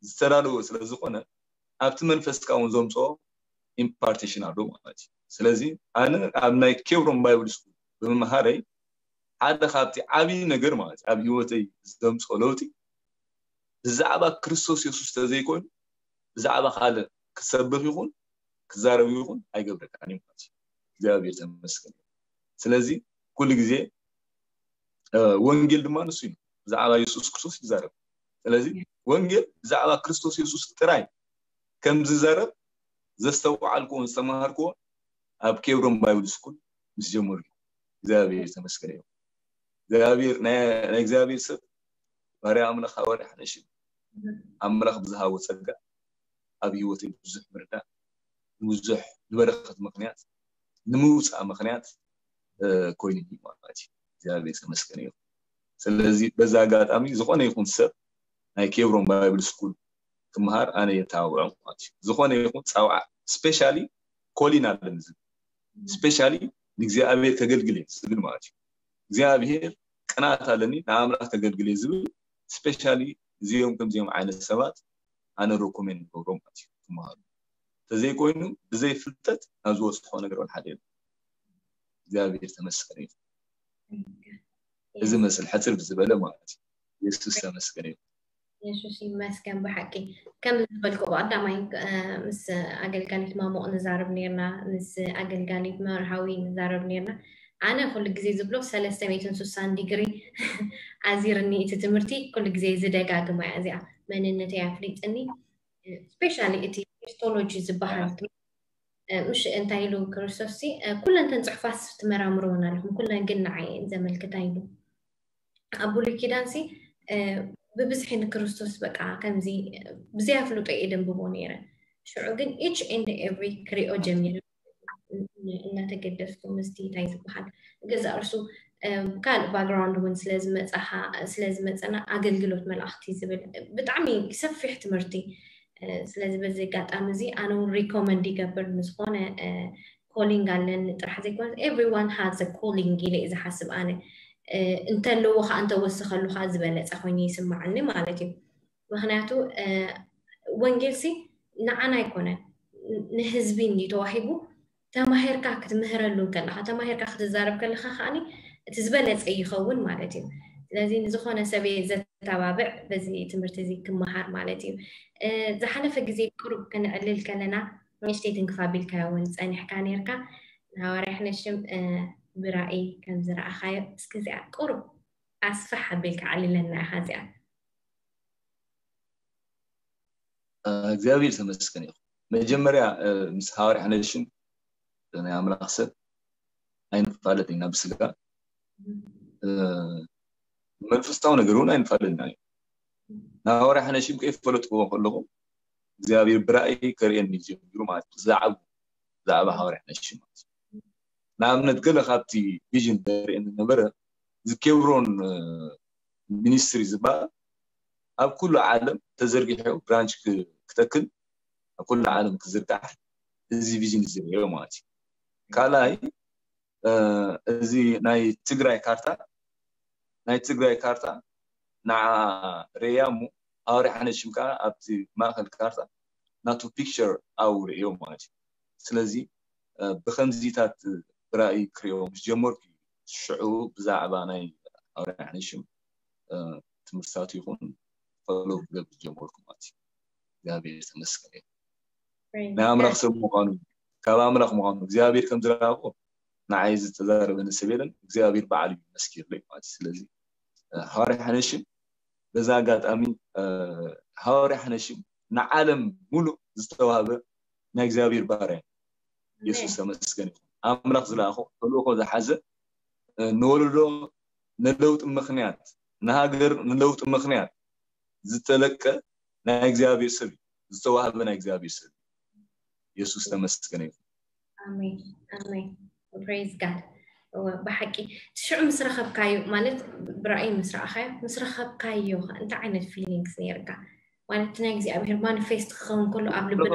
ዝተዳለወ ስለ ዝኾነ ኣብቲ መንፈስካ እውን ዘምፅኦ ኢምፓርቴሽን ኣሎ ማለት እዩ። ስለዚ ኣነ ኣብ ናይ ኬብሮን ባይብል ስኩል ብምምሃረይ ሓደ ካብቲ ዓብዪ ነገር ማለት ኣብ ህይወተይ ዘምፅኦ ለውጢ ብዛዕባ ክርስቶስ የሱስ ተዘይኮይኑ ብዛዕባ ካልእ ክሰብኽ ይኹን ክዛረብ ይኹን ኣይገብረካን እዩ ማለት እዩ። እግዚኣብሔር ተመስገን። ስለዚ ኩሉ ግዜ ወንጌል ድማ ንሱ እዩ፣ ብዛዕባ የሱስ ክርስቶስ ይዛረብ። ስለዚ ወንጌል ብዛዕባ ክርስቶስ የሱስ ጥራይ ከም ዝዛረብ ዘስተውዓልኩዎን ዝተምሃርኩዎን ኣብ ኬብሮን ባይብል ስኩል ምስ ጀመሩ እዩ። እግዚኣብሔር ተመስገን እዩ። እግዚኣብሔር ናይ እግዚኣብሔር ሰብ ባርያ ኣምላኽ ሃዋርያ ሓነሽ ኣምላኽ ብዝሃቦ ጸጋ ኣብ ህይወተይ ብዙሕ ምርዳእ ንብዙሕ ንበረኸት ምኽንያት ንምውፃእ ምኽንያት ኮይኑ ማለት እዩ። እግዚኣብሔር ተመስገን ይኹን። ስለዚ በዛ ኣጋጣሚ ዝኾነ ይኹን ሰብ ናይ ኬብሮን ባይብል ስኩል ክምሃር ኣነ የተባብዖ ማለት እዩ። ዝኾነ ይኹን ፃውዓ ስፔሻሊ ኮሊን ኣለኒ ዝብል ስፔሻሊ ንእግዚኣብሔር ከገልግል እየ ዝብል ማለት እዩ። እግዚኣብሔር ቅንኣት ኣለኒ ንኣምላኽ ከገልግል እየ ዝብል ስፔሻሊ እዚኦም ከምዚኦም ዓይነት ሰባት ኣነ ሮኮሜንድ ገብሮም ማለት እዩ ክመሃሩ። ተዘይኮይኑ ብዘይ ፍልጠት ናብ ዝበፅሖ ነገር ወላ ሓደ የለን። እግዚኣብሔር ተመስገን እዩ። እዚ መስል ሕፅር ብዝበለ ማለት እዩ። የሱስ ተመስገን እዩ። የሱስ ይመስገን። ብሓቂ ከም ዝበልኩ ብቀዳማይ ምስ ኣገልጋሊት ማሞቕ ንዛረብ ነርና፣ ምስ ኣገልጋሊት መርሃዊ ንዛረብ ነርና። ኣነ ኩሉ ግዜ ዝብሎ ሰለስተ ሚእትን ስሳን ዲግሪ ኣዚርኒ እቲ ትምህርቲ ኩሉ ግዜ ዝደጋግማ እያ እዚኣ መንነተይ ኣፍሊጥኒ። ስፔሻሊ እቲ ክሪስቶሎጂ ዝበሃል ምሽ እንታይ ኢሉ ክርስቶስ ኩለን ተን ፅሑፋት ትመራምርወን ኣለኹም ኩለን ግን ንዓይ ዘመልክታ ኢሉ ኣብ ብሉይ ኪዳን ሲ ብብዝሒ ንክርስቶስ በቃ ከምዚ ብዘይ ኣፍልጦ እየ ደንብቦ ነይረ። ሽዑ ግን each and every ክሪኦ ጀሚረ እናተገደስኩ ምስቲ እንታይ ዝበሃል ገዛ እርሱ ካልእ ባክግራውንድ እውን ስለዝመፀና ኣገልግሎት መላእክቲ ዝብል ብጣዕሚ ሰፊሕ ትምህርቲ። ስለዚ በዚ ኣጋጣሚ እዚ ኣነ እውን ሪኮመንድ ይገብር። ንዝኾነ ኮሊንግ ኣለኒ ጥራሕ ዘይኮነ everyone has a calling ኢለ እየ ዝሓስብ ኣነ። እንተለዎ ከዓ እንተወሰኸሉ ከዓ ዝበለፀ ኮይኑ ይስማዓኒ ማለት እዩ። ምክንያቱ ወንጌልሲ ንዓና ኣይኮነን፣ ንህዝቢ እንድዩ ተዋሂቡ። ተማሂርካ ክትምህረሉ ከለካ፣ ተማሂርካ ክትዛረብ ከለካ ከዓኒ እቲ ዝበለፀ ይኸውን ማለት እዩ። ስለዚ ንዝኾነ ሰብ እየ ዘተባብዕ በዚ ትምህርቲ እዚ ክመሃር ማለት እዩ። ዝሓለፈ ግዜ ቅሩብ ከነዕልል ከለና ንእሽተይ ትንክፍ ኣቢልካዮ እውን ፀኒሕካ ነርካ። ንሃዋርያ ሕነሽም ብራእይ ከም ዝረኣኻዮ እስኪ እዚኣ ቅሩብ ኣስፍሕ ኣቢልካ ዓልለና ኢኻ እዚኣ። እግዚኣብሔር ተመስገን ይኹን። መጀመርያ ምስ ሃዋርያ ሕነሽም ናይ ኣምላኽ ሰብ ኣይንፋለጥ ኢና ብስጋ። መንፈሳዊ ነገር እውን ኣይንፋለጥ ኢና እዩ። ንሃዋርያ ሕነሽም ከይፈለጥክዎ ከለኹ እግዚኣብሔር ብራእይ ከርእየኒ ጀሚሩ ማለት እዩ። ዛዕባ ዛዕባ ሃዋርያ ሕነሽም ማለት እዩ። ንኣብነት ገለ ካብቲ ቪዥን ዘርእየኒ ነበረ ዝኬብሮን ሚኒስትሪ ዝበሃል ኣብ ኩሉ ዓለም ተዘርጊሑ ብራንች ክተክል ኣብ ኩሉ ዓለም ክዝርጋሕ እዚ ቪዥን ዝርእዮ ማለት እዩ። ካልኣይ እዚ ናይ ትግራይ ካርታ ናይ ትግራይ ካርታ ንዓ ርእያ እሞ ሃዋርያ ሓነሽም ከዓ ኣብቲ ማእኸል ካርታ ናቱ ፒክቸር ኣብኡ ርእዮ ማለት እዩ። ስለዚ ብከምዚታት ብራእይ ክርእዮ ምስ ጀመርኩ ሽዑ ብዛዕባ ናይ ሃዋርያ ሓነሽም ትምህርትታት ይኹን ፈሎ ክገብር ጀመርኩ ማለት እዩ። እግዚኣብሔር ተመስገን እዩ። ናይ ኣምላኽ ሰብ ምዃኑ ካብ ኣምላኽ ምዃኑ እግዚኣብሔር ከም ዝረኣኹ ንዓይ ዝተዛረበኒ ሰብ የለን። እግዚኣብሔር ባዕሉ እዩ መስኪርለይ ማለት እዩ። ስለዚ ሃዋርያ ሓነሽም በዛ ኣጋጣሚ ሃዋርያ ሓነሽም ንዓለም ሙሉእ ዝተዋህበ ናይ እግዚኣብሔር ባርያ። የሱስ ተመስገን ይኹን። ኣምላኽ ዝለኣኾ ተልእኾ ዝሓዘ ንወለዶ ንለውጢ ምኽንያት ንሃገር ንለውጢ ምኽንያት ዝተለቀ ናይ እግዚኣብሔር ሰብ እዩ። ዝተዋህበ ናይ እግዚኣብሔር ሰብ እዩ። የሱስ ተመስገን ይኹን። ኣሜን ኣሜን። ፕሬዝ ጋድ። ብሓቂ ሽዑ ምስ ረኸብካዮ ማለት ብራእይ ምስ ረኣኻዮ ምስ ረኸብካዮ እንታይ ዓይነት ፊሊንግስ ነይርካ? ማለት ናይ እግዚኣብሔር ማኒፌስት ክኸውን ከሎ ኣብ ልብና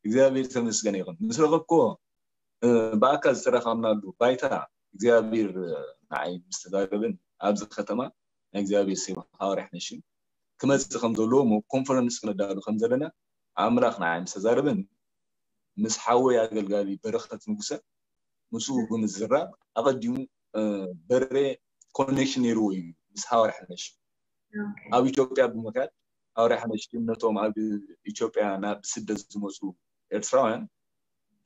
እግዚኣብሔር ተመስገን ይኹን። ምስ ረኸብክዎ ብኣካል ዝተራኸብናሉ ባይታ እግዚኣብሔር ንዓይ ምስ ተዛረበን ኣብዚ ከተማ ናይ እግዚኣብሔር ሰብ ሃዋርያ ሓነሽም ክመፅእ ከም ዘለዎ እሞ ኮንፈረንስ ክነዳሉ ከም ዘለና ኣምላኽ ንዓይ ምስ ተዛረበን ምስ ሓወይ ኣገልጋሊ በረኸት ንጉሰ ምስኡ ብምዝራብ ኣቐዲሙ በሬ ኮኔክሽን ነይርዎ እዩ ምስ ሃዋርያ ሓነሽም ኣብ ኢትዮጵያ ብምክያድ ሃዋርያ ሓነሽም ነቶም ኣብ ኢትዮጵያ ናብ ስደት ዝመፁ ኤርትራውያን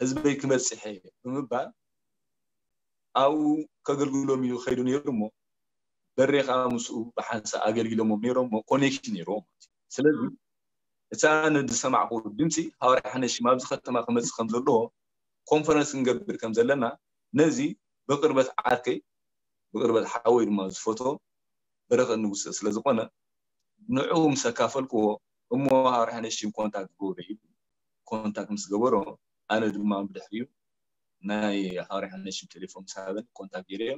ህዝበይ ክበፅሐ ብምባል ኣብኡ ከገልግሎም እዩ ከይዱ ነይሩ እሞ በሬ ከዓ ምስኡ ብሓንሳእ ኣገልጊሎሞም ነይሮም እሞ ኮኔክሽን ነይርዎም ማለት እዩ። ስለዚ እቲ ኣነ ዝሰማዕኩ ድምፂ ሃዋርያ ሓነሽም ኣብዚ ከተማ ክመፅእ ከም ዘለዎ ኮንፈረንስ ክንገብር ከም ዘለና ነዚ ብቅርበት ዓርከይ ብቅርበት ሓወይ ድማ ዝፈትዎ በረኸት ንጉሰ ስለዝኾነ ንዕኡ ምስ ኣካፈልክዎ እሞ ሃዋርያ ሓነሽም ኮንታክት ግበሩ ኢሉ ኮንታክት ምስ ገበሮ ኣነ ድማ ብድሕሪኡ ናይ ሃዋርያ ሓነሽም ቴሌፎን ምስ ሃበኒ ኮንታክት ገይረዮ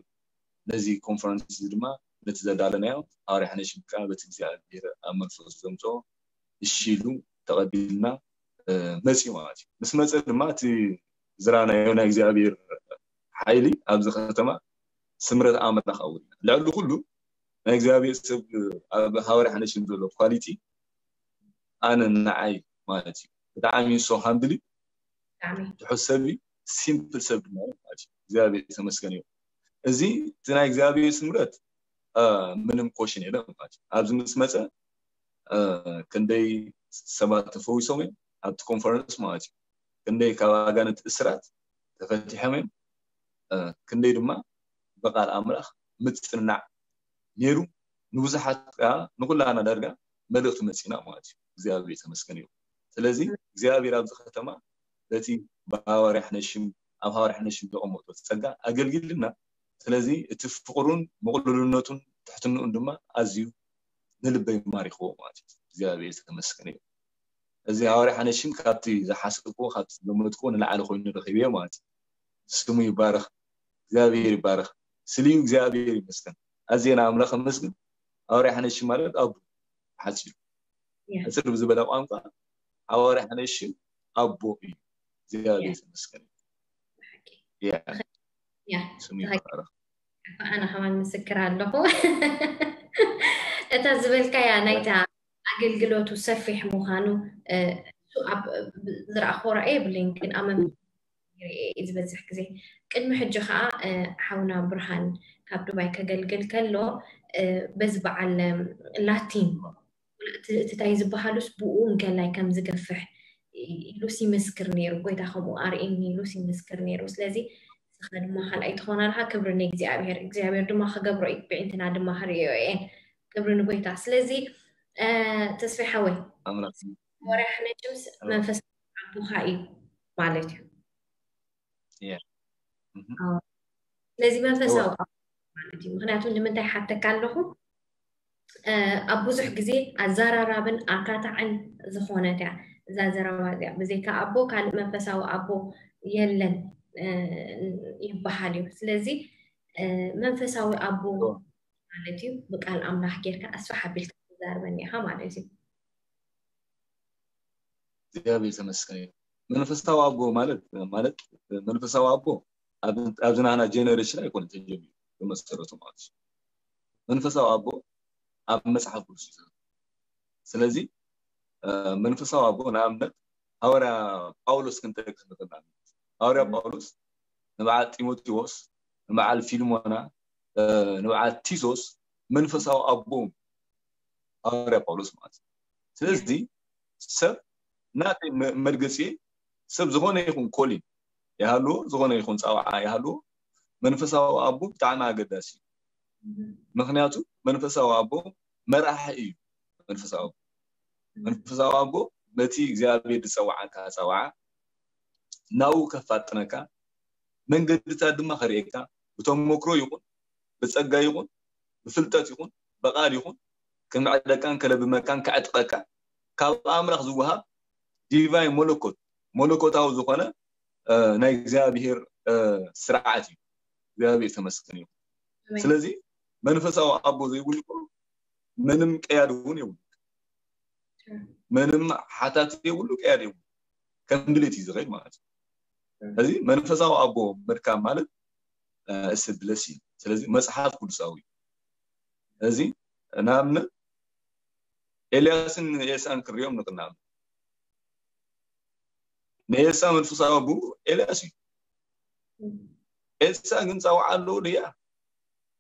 ነዚ ኮንፈረንስ እዚ ድማ ነቲ ዘዳለናዮ ሃዋርያ ሓነሽም ከዓ በቲ እግዚኣብሔር ኣብ መንፈሱ ዘምፅኦ እሺ ኢሉ ተቐቢልና መፅዩ ማለት እዩ። ምስ መፀ ድማ እቲ ዝረኣናዮ ናይ እግዚኣብሔር ሓይሊ ኣብዚ ከተማ ስምረት ኣምላኽ ኣውሪና ልዕሊ ኩሉ ናይ እግዚኣብሔር ሰብ ኣብ ሃዋርያ ሓነሽም ዘሎ ኳሊቲ ኣነ ንዓይ ማለት እዩ ብጣዕሚ so humble ትሑት ሰብ እዩ። ሲምፕል ሰብ ድማ ማለት እዩ። እግዚኣብሔር ተመስገን እዩ። እዚ እቲ ናይ እግዚኣብሔር ስምረት ምንም ኮሽን የለን ማለት እዩ። ኣብዚ ምስ መፀ ክንደይ ሰባት ተፈዊሶም እዮም ኣብቲ ኮንፈረንስ ማለት እዩ። ክንደይ ካብ ኣጋንንት እስራት ተፈቲሖም እዮም። ክንደይ ድማ ብቃል ኣምላኽ ምፅናዕ ነይሩ። ንብዙሓት ከዓ ንኩላና ዳርጋ መልእኽቲ መፂና ማለት እዩ። እግዚኣብሔር ተመስገን እዩ። ስለዚ እግዚኣብሔር ኣብዚ ከተማ በቲ ብሃዋርያ ሓነሽም ኣብ ሃዋርያ ሓነሽም ዘቐመጦ ጸጋ ኣገልጊልና። ስለዚ እቲ ፍቕሩን ምቕሉልነቱን ትሕትንኡን ድማ ኣዝዩ ንልበይ ማሪኽዎ ማለት እዩ። እግዚኣብሔር ዝተመስገነ እዩ። እዚ ሃዋርያ ሓነሽም ካብቲ ዝሓሰብክዎ ካብቲ ዝገመትክዎ ንላዕሊ ኮይኑ ረኺበዮ ማለት እዩ። ስሙ ይባረኽ። እግዚኣብሔር ይባረክ። ስልዩ እግዚኣብሔር ይመስገን። ኣዜና ኣምላኽ ኣመስግን። ኣወርያ ሓነሽ ማለት ኣቦ ሓፂሩ ሕፅር ብዝበለ ቋንቋ ኣወርያ ሓነሽ ኣቦ እዩ። እግዚኣብሔር ይመስገን። ስሙ ይባረክ። ኣነ ከማን ምስክር ኣለኹ። እታ ዝበልካያ ናይታ ኣገልግሎቱ ሰፊሕ ምዃኑ ዝረኣኽዎ ራእይ የብለይን፣ ግን ኣመ ዝበዝሕ ግዜ ቅድሚ ሕጂ ከዓ ሓውና ብርሃን ካብ ዱባይ ከገልግል ከሎ በዚ በዓል ላቲን እቲ ታይ ዝበሃሉስ ብኡ እንከላይ ከም ዝገፍሕ ኢሉስ ይምስክር ነይሩ። ጎይታ ከምኡ ኣርእኒ ኢሉስ ይምስክር ነይሩ። ስለዚ ንስኻ ድማ ካልኣይ ትኾና ኣለኻ። ክብሪ ንእግዚኣብሔር፣ እግዚኣብሔር ድማ ክገብሮ እዩ። ብዒንትና ድማ ክርእዮ እየን። ክብሪ ንጎይታ። ስለዚ ተስፋ ሓወይ ወርያ ሓነሽምስ መንፈስ ኣቦኻ እዩ ማለት እዩ። ስለዚ መንፈሳዊ ማለት እዩ። ምክንያቱ ንምንታይ ሓተካ ኣለኹ፣ ኣብ ብዙሕ ግዜ ኣዘራራብን ኣካታዕን ዝኾነት እያ እዛ ዘረባ እዚኣ። ብዘይካ ኣቦ ካልእ መንፈሳዊ ኣቦ የለን ይበሃል እዩ። ስለዚ መንፈሳዊ ኣቦ ማለት እዩ ብቃል ኣምላኽ ጌርካ ኣስፋሕ ኣቢልካ ትዛርበኒ ኢኻ ማለት እዩ። እግዚኣብሔር ተመስገን እዩ። መንፈሳዊ ኣቦ ማለት ማለት መንፈሳዊ ኣቦ ኣብዚ ናህና ጀነሬሽን ኣይኮነ ተጀሚሩ ብመሰረቱ ማለት እዩ። መንፈሳዊ ኣቦ ኣብ መፅሓፍ ቅዱስ እዩ። ስለዚ መንፈሳዊ ኣቦ ንኣብነት ሃዋርያ ጳውሎስ ክንጠቅስ ንኽእል። ሃዋርያ ጳውሎስ ንበዓል ጢሞቴዎስ፣ ንበዓል ፊልሞና፣ ንበዓል ቲቶስ መንፈሳዊ ኣቦ ሃዋርያ ጳውሎስ ማለት እዩ። ስለዚ ሰብ ናተይ መርገፂ ሰብ ዝኾነ ይኹን ኮሊን ይሃልዎ፣ ዝኾነ ይኹን ፀዋዓ ይሃልዎ፣ መንፈሳዊ ኣቦ ብጣዕሚ ኣገዳሲ እዩ። ምክንያቱ መንፈሳዊ ኣቦ መራሒ እዩ። መንፈሳዊ ኣቦ መንፈሳዊ ኣቦ በቲ እግዚኣብሔር ዝፀዋዓካ ፀዋዓ ናብኡ ከፋጥነካ መንገድታት ድማ ከርእየካ ብተመክሮ ይኹን ብፀጋ ይኹን ብፍልጠት ይኹን ብቃል ይኹን ክምዕደካን ከለብመካን ከዕጥቐካ ካብ ኣምላኽ ዝወሃብ ዲቫይን መለኮት መለኮታዊ ዝኾነ ናይ እግዚኣብሔር ስርዓት እዩ። እግዚኣብሔር ተመስገን እዩ። ስለዚ መንፈሳዊ ኣቦ ዘይብሉ ምንም ቀያዲ እውን የብሉ። ምንም ሓታት የብሉ፣ ቀያዲ የብሉ። ከም ድሌት እዩ ዝኸይድ ማለት እዩ። እዚ መንፈሳዊ ኣቦ ምርካብ ማለት እስ ብለስ እዩ። ስለዚ መፅሓፍ ቅዱሳዊ እዩ። እዚ ንኣብነት ኤልያስን ኤልሳን ክንሪኦም ንኽእል። ንኤልሳ መንፈሳዊ ኣቦ ኤልያስ እዩ። ኤልሳ ግን ፀውዓ ኣለዎ ድያ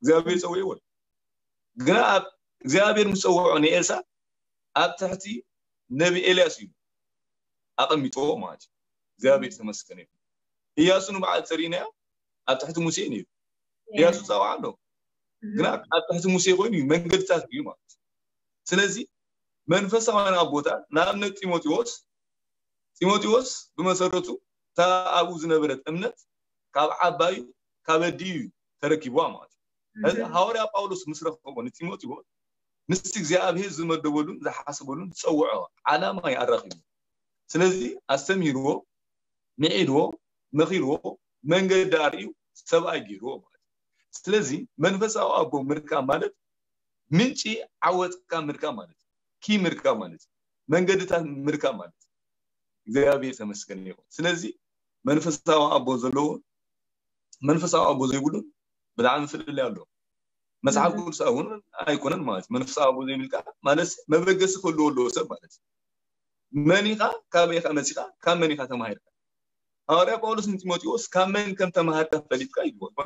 እግዚኣብሔር ፀዊዕዎ። ግና ኣብ እግዚኣብሔር ምስ ፀውዖ ንኤልሳ ኣብ ትሕቲ ነቢ ኤልያስ እዩ ኣቐሚጥዎ ማለት እዩ። እግዚኣብሔር ተመስገን እዩ። እያሱ ንበዓል ተሪእናዮ ኣብ ትሕቲ ሙሴ ነይሩ። እያሱ ፀውዓ ኣሎ ግና ኣብ ትሕቲ ሙሴ ኮይኑ እዩ መንገድታት እዩ ማለት እዩ። ስለዚ መንፈሳውያን ኣቦታት ንኣብነት ጢሞቴዎስ ጢሞቴዎስ ብመሰረቱ እታ ኣብኡ ዝነበረት እምነት ካብ ዓባዩ ካብ ኣዲኡ እዩ ተረኪብዋ ማለት እዩ። እዚ ሃዋርያ ጳውሎስ ምስ ረኸቦ ንጢሞቴዎስ ምስቲ እግዚኣብሔር ዝመደበሉን ዝሓሰበሉን ዝፀውዖ ዓላማ እዩ ኣራኺቡ። ስለዚ ኣስተምሂርዎ፣ ምዒድዎ፣ መኺርዎ፣ መንገዲ ኣርእዩ ሰብኣይ ገይርዎ ማለት እዩ። ስለዚ መንፈሳዊ ኣቦ ምርካብ ማለት ምንጪ ዓወትካ ምርካብ ማለት እዩ። ኪ ምርካብ ማለት እዩ። መንገድታት ምርካብ ማለት እዩ። እግዚኣብሔር ተመስገን ይኹን። ስለዚ መንፈሳዊ ኣቦ ዘለዎ መንፈሳዊ ኣቦ ዘይብሉን ብጣዕሚ ፍልልይ ኣሎ። መፅሓፍ ቅዱስ እውን ኣይኮነን ማለት እዩ። መንፈሳዊ ኣቦ ዘይብልካ ማለት መበገሲ ክህልዎ ኣለዎ ሰብ ማለት እዩ። መን ኢኻ፣ ካበይ ኢኻ መፂኻ፣ ካብ መን ኢኻ ተማሂርካ? ሃዋርያ ጳውሎስ ንጢሞቴዎስ ካብ መን ከም ተማሃርካ ፈሊጥካ ይብሎ።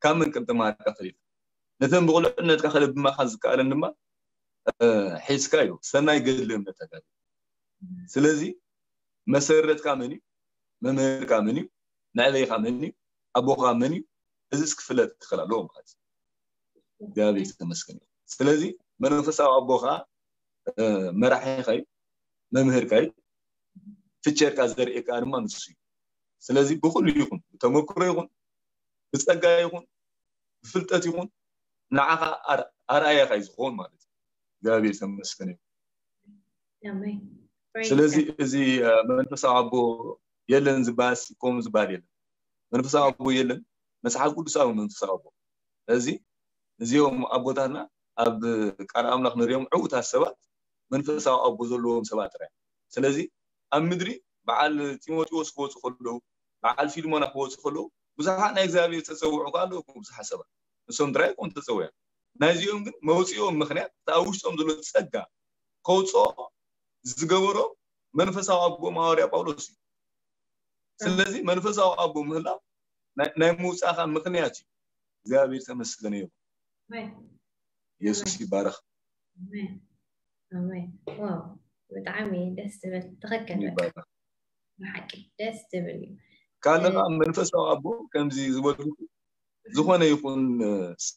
ካብ መን ከም ተማሃርካ ፈሊጥካ ነተን ብቁልዕነትካ ከለብማኻ ዝከኣለን ድማ ሒዝካ እዩ ሰናይ ገድሊ እምነት ተጋድል። ስለዚ መሰረትካ መን እዩ? መምህርካ መን እዩ? መዕበይካ መን እዩ? ኣቦኻ መን እዩ? እዚስ ክፍለጥ ክኽእል ኣለዎ ማለት እዩ። እግዚኣብሔር ዝተመስገን እዩ። ስለዚ መንፈሳዊ ኣቦኻ መራሒኻ እዩ፣ መምህርካ እዩ። ፍቸርካ ዘርእየካ ድማ ንሱ እዩ። ስለዚ ብኩሉ ይኹን ብተመክሮ ይኹን ብፀጋ ይኹን ብፍልጠት ይኹን ንዓኻ ኣርኣያኻ እዩ ዝኸውን ማለት እዩ። እግዚኣብሔር ተመስገን እዩ። ስለዚ እዚ መንፈሳዊ ኣቦ የለን ዝበሃል ከምኡ ዝበሃል የለን። መንፈሳዊ ኣቦ የለን። መጽሓፍ ቅዱሳዊ መንፈሳዊ ኣቦ። ስለዚ እዚኦም ኣቦታትና ኣብ ቃል ኣምላኽ ንሪኦም ዕዉታት ሰባት መንፈሳዊ ኣቦ ዘለዎም ሰባት ጥራይ። ስለዚ ኣብ ምድሪ በዓል ጢሞቴዎስ ክወፁ ከለዉ፣ በዓል ፊልሞና ክወፁ ከለዉ ብዙሓት ናይ እግዚኣብሔር ተፀውዑ ከ ኣለዉ፣ ብዙሓት ሰባት ንሶም ጥራይ ኮም ተፀውዑ። ናይዚኦም ግን መውፅኦም ምኽንያት እቲ ኣብ ውሽጦም ዘሎ ፀጋ ከውፅኦ ዝገበሮ መንፈሳዊ ኣቦ ሃዋርያ ጳውሎስ እዩ። ስለዚ መንፈሳዊ ኣቦ ምህላው ናይ ምውፃእካ ምኽንያት እዩ። እግዚኣብሔር ተመስገነ ይኹን። የሱስ ይባረኽ። ኣሜን። ዋው፣ ብጣዕሚ ደስ ዝብል፣ ትኽክል። ብሓቂ ደስ ዝብል እዩ። ካልእ ከዓ መንፈሳዊ ኣቦ ከምዚ ዝበልኩ ዝኾነ ይኹን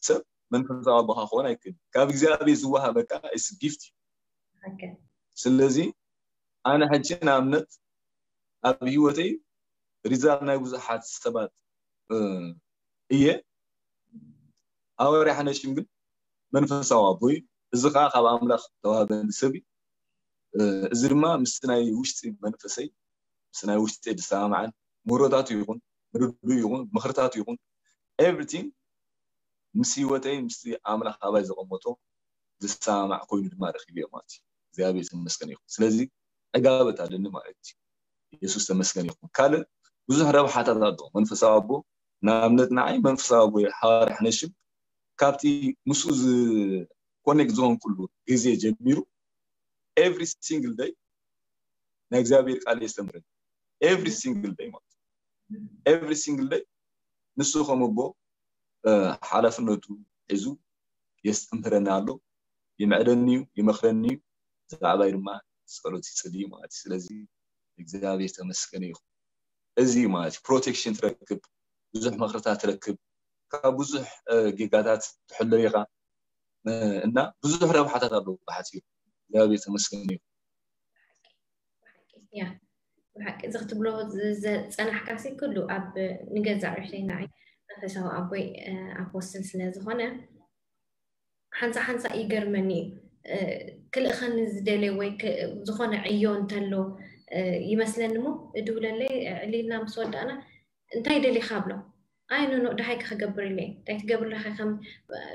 ሰብ መንፈሳዊ ኣቦኻ ክኾን ኣይክእል። ካብ እግዚኣብሔር ዝወሃበካ ስ ጊፍት እዩ። ስለዚ ኣነ ሕጂ ንኣብነት ኣብ ህይወተይ ሪዛል ናይ ብዙሓት ሰባት እየ። ኣወርያ ሓነሽም ግን መንፈሳዊ ኣቦይ፣ እዚ ከዓ ካብ ኣምላኽ ተዋህበኒ ሰብ እዩ። እዚ ድማ ምስ ናይ ውሽጢ መንፈሰይ፣ ምስ ናይ ውሽጢ ዝሰማማዓን ምህሮታቱ ይኹን ምርዱ ይኹን ምኽርታቱ ይኹን ኤቭሪቲንግ ምስ ህይወተይ ምስቲ ኣምላኽ ኣባይ ዘቐመጦ ዝሰማማዕ ኮይኑ ድማ ረኪብዮ ማለት እዩ። እግዚኣብሔር ተመስገን ይኹን። ስለዚ ዕጋበት ኣለኒ ማለት እዩ። የሱስ ተመስገን ይኹን። ካልእ ብዙሕ ረብሓታት ኣሎ። መንፈሳዊ ኣቦ ንኣብነት ንዓይ መንፈሳዊ ኣቦ ሓዋርያ ሓነሽም ካብቲ ምስኡ ኮኔክት ዝኾንኩሉ ግዜ ጀሚሩ ኤቭሪ ሲንግል ደይ ናይ እግዚኣብሔር ቃል የስተምረኒ። ኤቭሪ ሲንግል ደይ ማለት ኤቭሪ ሲንግል ደይ ንሱ ከም ኣቦ ሓላፍነቱ ሒዙ የስተምህረኒ ኣሎ፣ ይምዕደኒ እዩ፣ ይመኽረኒ እዩ። ብዛዕባይ ድማ ጸሎት ይጽሊ ማለት እዩ። ስለዚ እግዚኣብሔር ተመስገነ ይኹን። እዚ ማለት እዩ ፕሮቴክሽን ትረክብ፣ ብዙሕ መኽርታት ትረክብ፣ ካብ ብዙሕ ጌጋታት ትሕሎ ኢኻ እና ብዙሕ ረብሓታት ኣለዎ ብሓፂሩ። እግዚኣብሔር ተመስገነ ይኹን። ያ ብሓቂ እዚ ክትብሎ ዝፀናሕካሲ ኩሉ ኣብ ንገዛእ ርእሰይ ንዓይ መንፈሳዊ ኣቦይ ኣፖስትል ስለ ዝኾነ ሓንሳ ሓንሳ ይገርመኒ እዩ። ክልእኸኒ ዝደልየ ወይ ዝኾነ ዕዮ እንተሎ ይመስለኒ እሞ እድውለለይ ዕሊልና ምስ ወዳእና እንታይ ደሊኻ ብሎ ኣይ ኖ ኖ ደሃይ ክገብር ኢለ እንታይ ትገብር ኣለኻ ከም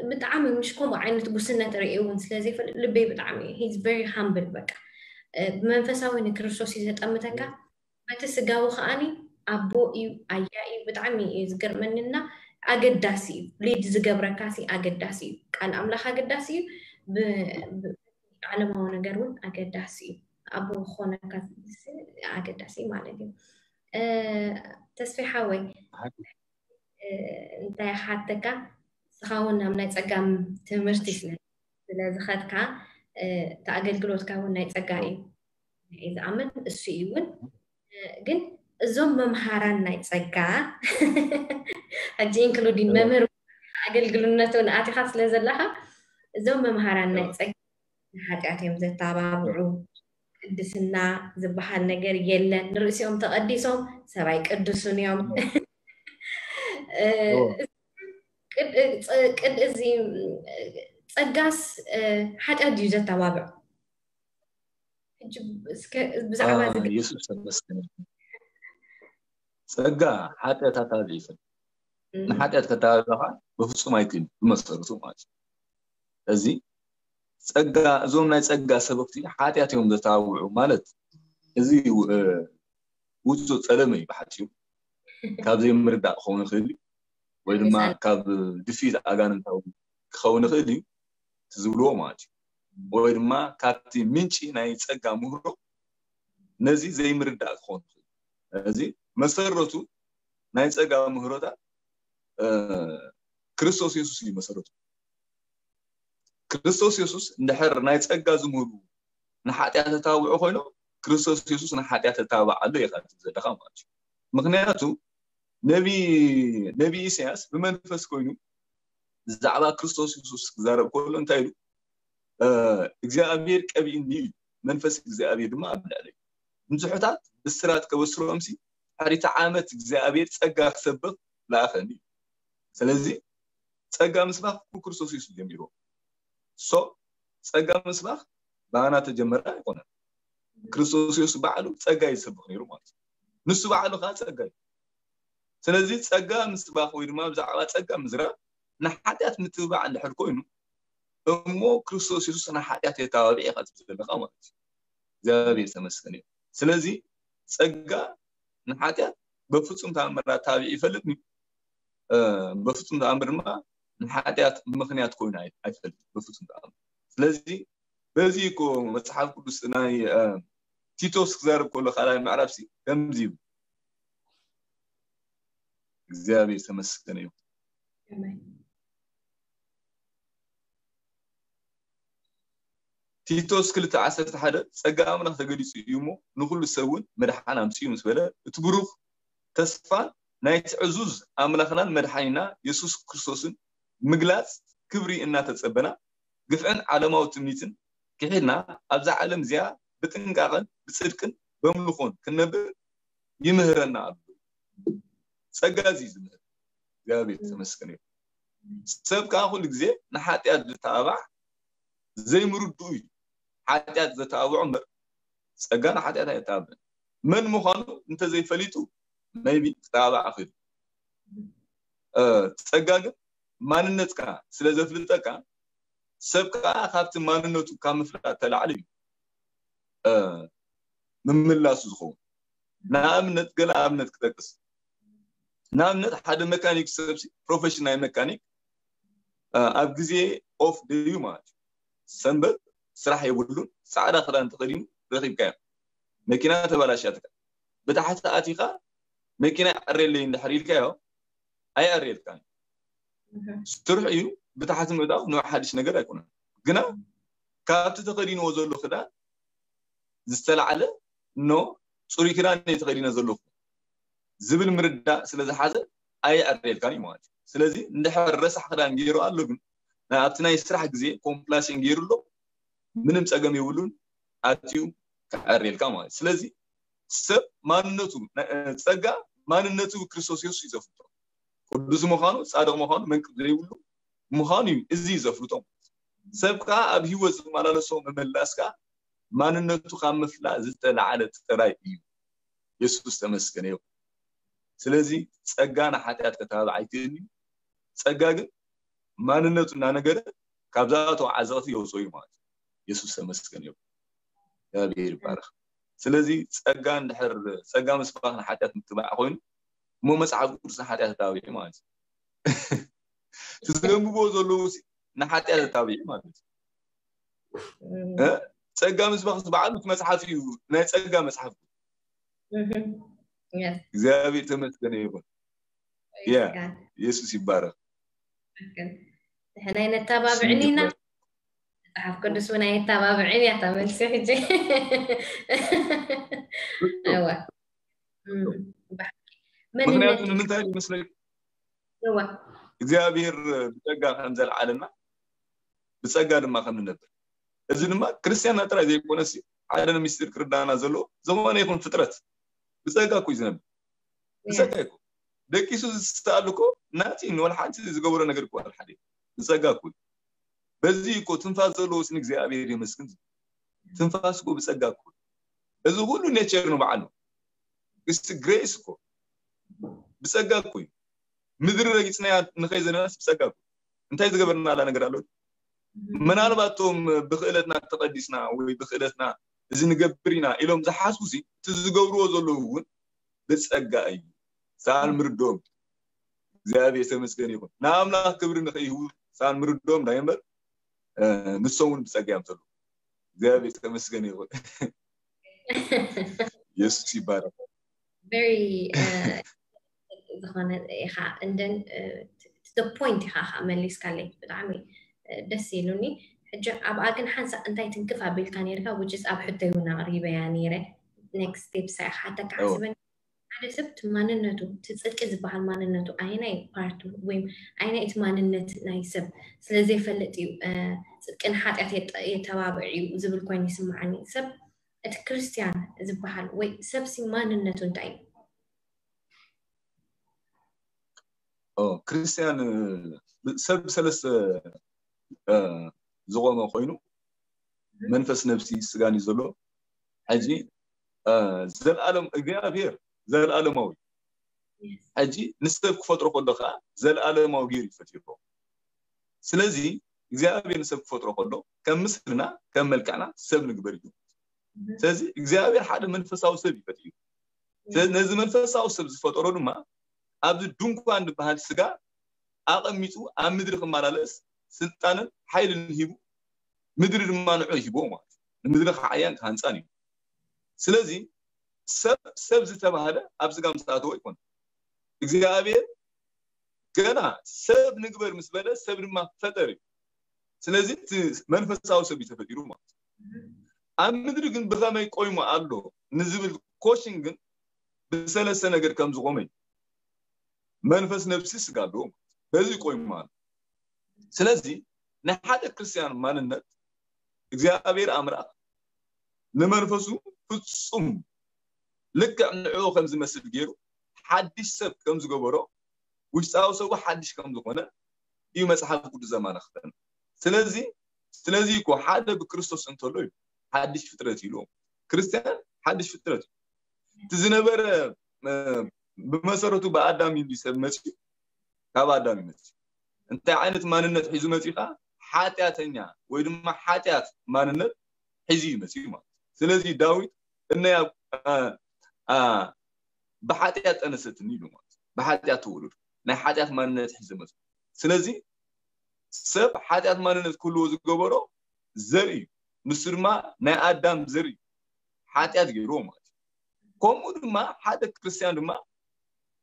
ብጣዕሚ ምሽ ከምኡ ዓይነት ጉስነት ርእየ እውን ስለ ዘይፈልጥ ልበይ ብጣዕሚ he's very humble በቃ ብመንፈሳዊ ንክርስቶስ እዩ ዘጠምተካ በቲ ስጋዊ ከዓኒ ኣቦ እዩ ኣያ እዩ ብጣዕሚ እዩ ዝገርመንና ኣገዳሲ እዩ ሊድ ዝገብረካ ሲ ኣገዳሲ እዩ ቃል ኣምላኽ ኣገዳሲ እዩ ዓለማዊ ነገር እውን ኣገዳሲ እዩ ኣቦ ክኾነካ ኣገዳሲ ማለት እዩ ተስፋ ሓወይ እንታይ ሓተካ ንስኻ እውን ናብ ናይ ፀጋ ትምህርቲ ስለ ስለዝኸድካ እቲ ኣገልግሎትካ እውን ናይ ፀጋ እዩ ዝኣምን እሱ እዩ እውን ግን እዞም መምሃራን ናይ ፀጋ ሕጂ ኢንክሉዲን መምህር ኣገልግልነት እውን ኣቲኻ ስለ ዘለኻ እዞም መምሃራን ናይ ፀጋ ንሓጢኣት እዮም ዘተባብዑ ቅድስና ዝበሃል ነገር የለን ንርእሲኦም ተቐዲሶም ሰብኣይ ቅዱሱን እዮም ቅድ እዚ ጸጋስ ሓጢኣት ድዩ ዘተባብዕ? ብዛዕባ የሱስ ተመስገን። ጸጋ ሓጢኣት ኣታብዕ ይፈል ንሓጢኣት ከተባብዕ ከዓ በፍጹም ኣይክእል ብመሰረቱ ማለት እዩ። እዚ ጸጋ እዞም ናይ ጸጋ ሰበክቲ ሓጢኣት እዮም ዘተባብዑ ማለት እዚ ውጹእ ጸለመ እዩ ብሓጺሩ ካብ ዘይምርዳእ ክኸውን ይኽእል እዩ ወይ ድማ ካብ ድፊት ኣጋንንታዊ ክኸውን ይኽእል እዩ ዝብልዎ ማለት እዩ ወይ ድማ ካብቲ ምንጪ ናይ ጸጋ ምህሮ ነዚ ዘይምርዳእ ክኸውን ይኽእል እዚ መሰረቱ ናይ ጸጋ ምህሮታት ክርስቶስ የሱስ እዩ መሰረቱ ክርስቶስ የሱስ እንድሕር ናይ ጸጋ ዝምህሩ ንሓጢኣት ተታብዑ ኮይኖም ክርስቶስ የሱስ ንሓጢኣት ተታብዕ ኣሎ ኢኻ ዘለኻ ማለት እዩ ምክንያቱ ነቢ ነቢ ኢሳያስ ብመንፈስ ኮይኑ ብዛዕባ ክርስቶስ የሱስ ክዛረብ ከሎ እንታይ ኢሉ እግዚኣብሔር ቀቢእኒ እዩ መንፈስ እግዚኣብሔር ድማ ኣብ ልዕለይ ንዙሑታት ብስራት ከበስሮምሲ ሕሪቲ ዓመት እግዚኣብሔር ጸጋ ክሰብኽ ለኣኸኒ እዩ ስለዚ ጸጋ ምስባኽ ብክርስቶስ የሱስ ጀሚርዎ ሶ ጸጋ ምስባኽ ብኣና ተጀመረ ኣይኮነን ክርስቶስ የሱስ ባዕሉ ጸጋ ይሰብኽ ነይሩ ማለት እዩ ንሱ ባዕሉ ከዓ ጸጋ እዩ ስለዚ ጸጋ ምስባኽ ወይ ድማ ብዛዕባ ጸጋ ምዝራብ ንሓጢኣት ምትብባዕ እንድሕር ኮይኑ፣ እሞ ክርስቶስ የሱስ ንሓጢኣት የተባብዕ ኢኻ ትብል ዘለኻ ማለት እዩ። እግዚኣብሔር ተመስገን እዩ። ስለዚ ጸጋ ንሓጢኣት በፍጹም ተኣምር ኣተባቢዑ ይፈልጥን እዩ። በፍጹም ተኣምር ድማ ንሓጢኣት ምኽንያት ኮይኑ ኣይፈልጥን በፍጹም ተኣምር። ስለዚ በዚ እኮ መጽሓፍ ቅዱስ ናይ ቲቶስ ክዛረብ ከሎ ካልኣይ ምዕራፍ ሲ ከምዚ ይብል። እግዚኣብሔር ተመስገን እዩ። ቲቶስ ክልተ ዓሰርተ ሓደ ጸጋ ኣምላኽ ተገሊጹ እዩ እሞ ንኹሉ ሰብ እውን መድሓን ኣምጺኡ ምስ በለ እቲ ብሩኽ ተስፋን ናይቲ ዕዙዝ ኣምላኽናን መድሓኒና የሱስ ክርስቶስን ምግላጽ ክብሪ እናተጸበና ግፍዕን ዓለማዊ ትምኒትን ክሒድና ኣብዛ ዓለም እዚኣ ብጥንቃቐን ብጽድቅን በምልኾን ክንነብር ይምህረና ኣሎ። ጸጋ እዚ ዝምህር እግዚኣብሔር ተመስገን እዩ። ሰብ ከዓ ኩሉ ግዜ ንሓጢኣት ዝተባባዕ ዘይምርድኡ እዩ። ሓጢኣት ዘተባብዖ እምበር ጸጋ ንሓጢኣት ኣየተባብዕን። መን ምዃኑ እንተዘይፈሊጡ maybe ክተባባዕ ይኽእል። ጸጋ ግን ማንነትካ ስለ ዘፍልጠካ ሰብ ከዓ ካብቲ ማንነቱ ካብ ምፍላጥ ተላዕሊ እዩ ምምላሱ ዝኸውን። ንኣብነት ገለ ኣብነት ክጠቅስ፣ ንኣብነት ሓደ መካኒክ ሰብ ፕሮፌሽናል መካኒክ ኣብ ግዜ ኦፍ ደዩ ማለት እዩ፣ ሰንበት ስራሕ የብሉን፣ ፃዕዳ ክዳን ተኸዲኑ ረኺብካዮ። መኪና ተባላሽያትካ ብታሕቲ ኣቲኻ መኪና ይዕረየለይ እንድሕር ኢልካዮ ኣይዕረየልካን። ስርሑ እዩ ብታሕቲ ምእታው ንዑ ሓድሽ ነገር ኣይኮነን። ግና ካብቲ ተኸዲንዎ ዘሎ ክዳን ዝተላዕለ ኖ ፅሩይ ክዳን እየ ተኸዲነ ዘለኹ ዝብል ምርዳእ ስለ ዝሓዘ ኣይዕረየልካን እዩ ማለት እዩ። ስለዚ እንድሕር ረሳሕ ክዳን ገይሩ ኣሎ ግን ኣብቲ ናይ ስራሕ ግዜ ኮምፕላሴን ገይሩ ኣሎ ምንም ፀገም የብሉን። ኣትዩ ክዕረየልካ ማለት እዩ። ስለዚ ሰብ ማንነቱ ጸጋ ማንነቱ ክርስቶስ የሱስ እዩ ዘፍልጦ። ቅዱስ ምዃኑ ጻድቕ ምዃኑ መንቅብ ዘይብሉ ምዃኑ እዩ እዚ እዩ ዘፍልጦ። ሰብ ከዓ ኣብ ህይወት ዝመላለሶ ምምላስ ከዓ ማንነቱ ካብ ምፍላጥ ዝተላዕለ ጥራይ እዩ። የሱስ ተመስገነ ይኹን። ስለዚ ጸጋ ንሓጢኣት ከተባብዕ ኣይክእልን እዩ። ጸጋ ግን ማንነቱ እናነገረ ካብዛቶም ዓዘቕቲ የውፅኦ እዩ ማለት እዩ። የሱስ ተመስገን ይኹን። እግዚኣብሔር ይባረክ። ስለዚ ጸጋ እንድሕር ጸጋ ምስባክ ንሓጢኣት ምትባዕ ኮይኑ እሞ መፅሓፍ ቅዱስ ንሓጢኣት ተባቢዑ ማለት እዩ። ትዘንብዎ ዘለዉ ንሓጢኣት ተባቢዑ ማለት እዩ። ጸጋ ምስባክ ዝበዓሉ እቲ መፅሓፍ እዩ ናይ ጸጋ መፅሓፍ። እግዚኣብሔር ተመስገነ ይኹን። የሱስ ይባረክ። ንሕና ነተባብዕን ኢና። መፅሓፍ ቅዱስ እውን ኣየተባብዕን እያ እታ መልሲ ሕጂ። እወ። ምክንያቱ ንምንታይ ይመስለክ? እግዚኣብሔር ብፀጋ ከም ዘልዓለና ብፀጋ ድማ ከም ንነብር። እዚ ድማ ክርስትያንና ጥራይ ዘይኮነስ ሓደ ሚስጢር ክርዳና ዘለዎ ዝኾነ ይኹን ፍጥረት ብፀጋ እኮ እዩ ዝነብር። ብፀጋ ይኮ ደቂሱ ዝስተኣሉ እኮ ናቲ ንወላ ሓንቲ ዝገበሮ ነገር እኮ ሓደ ብፀጋ እኮ እዩ። በዚ እኮ ትንፋስ ዘለዎ ስን እግዚኣብሔር የመስግን። ትንፋስ እኮ ብፀጋ እኮ እዚ ሁሉ ኔቸር ነው በዓል ነው። እስቲ ግሬስ እኮ ብፀጋ እኮ እዩ። ምድሪ ረጊፅናያ ንኸይ ዘለናስ ብፀጋ እኮ እንታይ ዝገበርናላ ነገር ኣሎ? ምናልባት እቶም ብክእለትና ተቐዲስና ወይ ብክእለትና እዚ ንገብር ኢና ኢሎም ዝሓስቡ ሲ እቲ ዝገብርዎ ዘለዉ እውን ብፀጋ እዩ። ሳል ምርዶም እግዚኣብሔር ተመስገን ይኹን። ንኣምላኽ ክብሪ ንኸይህቡ ሳል ምርዶም ናይ እምበር ንሶም እውን ብፀጋ እዮም ዘለዉ። እግዚኣብሔር ተመስገን ይኹን። የሱስ ይባረክ። very ዝኾነ ኢኻ እንደን the point ኢኻ ከዓ መሊስካለይ ብጣዕሚ ደስ ኢሉኒ። ሕጂ ኣብኣ ግን ሓንሳእ እንታይ ትንክፍ ኣቢልካ ነርካ which is ኣብ ሕቶይ እውን ኣቕሪበያ ነይረ። Next step ሳ ኢኻ ሓተካ ሓስበን ሓደ ሰብ እቲ ማንነቱ እቲ ጽድቂ ዝበሃል ማንነቱ ኣይናይ ፓርቱ ወይም ኣይናይ እቲ ማንነት ናይ ሰብ ስለ ዘይፈልጥ እዩ ጽድቅን ሓጢኣት የተባብዕ እዩ ዝብል ኮይኑ ይስምዓኒ። ሰብ እቲ ክርስትያን ዝበሃል ወይ ሰብሲ ማንነቱ እንታይ እዩ? ክርስትያን ሰብ ሰለስተ ዝቆመ ኮይኑ መንፈስ፣ ነብሲ፣ ስጋን እዩ ዘሎ። ሕጂ ዘልኣለም እግዚኣብሔር ዘልኣለማዊ ሕጂ ንሰብ ክፈጥሮ ከሎ ከዓ ዘለኣለማዊ ገይሩ ይፈጢርዎ። ስለዚ እግዚኣብሔር ንሰብ ክፈጥሮ ከሎ ከም ምስልና ከም መልክዕና ሰብ ንግበር እዩ። ስለዚ እግዚኣብሔር ሓደ መንፈሳዊ ሰብ ይፈጥር እዩ። ስለዚ ነዚ መንፈሳዊ ሰብ ዝፈጠሮ ድማ ኣብዚ ድንኳን ዝበሃል ስጋ ኣቐሚጡ ኣብ ምድሪ ክመላለስ ስልጣንን ሓይልን ሂቡ ምድሪ ድማ ንዑ ይሂብዎ ማለት እዩ። ንምድሪ ክዓያን ክሃንፃን እዩ። ስለዚ ሰብ ሰብ ዝተባህለ ኣብ ስጋ ምስ ኣተወ ይኮን እግዚኣብሔር ገና ሰብ ንግበር ምስ በለ ሰብ ድማ ፈጠር እዩ። ስለዚ እቲ መንፈሳዊ ሰብ እዩ ተፈጢሩ ማለት እዩ። ኣብ ምድሪ ግን ብኸመይ ቆይሙ ኣሎ ንዝብል ኮሽን ግን ብሰለስተ ነገር ከም ዝቆመ እዩ። መንፈስ፣ ነብሲ፣ ስጋ ኣለዎ። በዚ ቆይሙ ኣሎ። ስለዚ ናይ ሓደ ክርስቲያን ማንነት እግዚኣብሔር ኣምላኽ ንመንፈሱ ፍጹም ልክዕ ንዕኡ ከም ዝመስል ገይሩ ሓድሽ ሰብ ከም ዝገበሮ ውሽጣዊ ሰቡ ሓድሽ ከም ዝኾነ እዩ መጽሓፍ ቅዱስ ዘማልኽተና። ስለዚ ስለዚ እኮ ሓደ ብክርስቶስ እንተሎ እዩ ሓድሽ ፍጥረት ኢሉ። ክርስቲያን ሓድሽ ፍጥረት እዩ። እቲ ዝነበረ እ፣ ብመሰረቱ ብኣዳም እዩ ሰብ መፅዩ፣ ካብ ኣዳም እዩ መፅዩ። እንታይ ዓይነት ማንነት ሒዙ መፅዩ ከዓ ሓጢኣተኛ ወይ ድማ ሓጢኣት ማንነት ሒዙ እዩ መፅዩ ማለት እዩ። ስለዚ ዳዊት እነያ እ፣ እ፣ ብሓጢኣት ጠነሰትኒ ኢሉ ማለት እዩ። ብሓጢኣት ተወለዱ ናይ ሓጢኣት ማንነት ሒዘ መፅኡ። ስለዚ ሰብ ሓጢኣት ማንነት ክህልዎ ዝገበሮ ዘርኢ እዩ። ንሱ ድማ ናይ ኣዳም ዘርኢ እዩ። ሓጢኣት ገይርዎ ማለት እዩ። ከምኡ ድማ ሓደ ክርስቲያን ድማ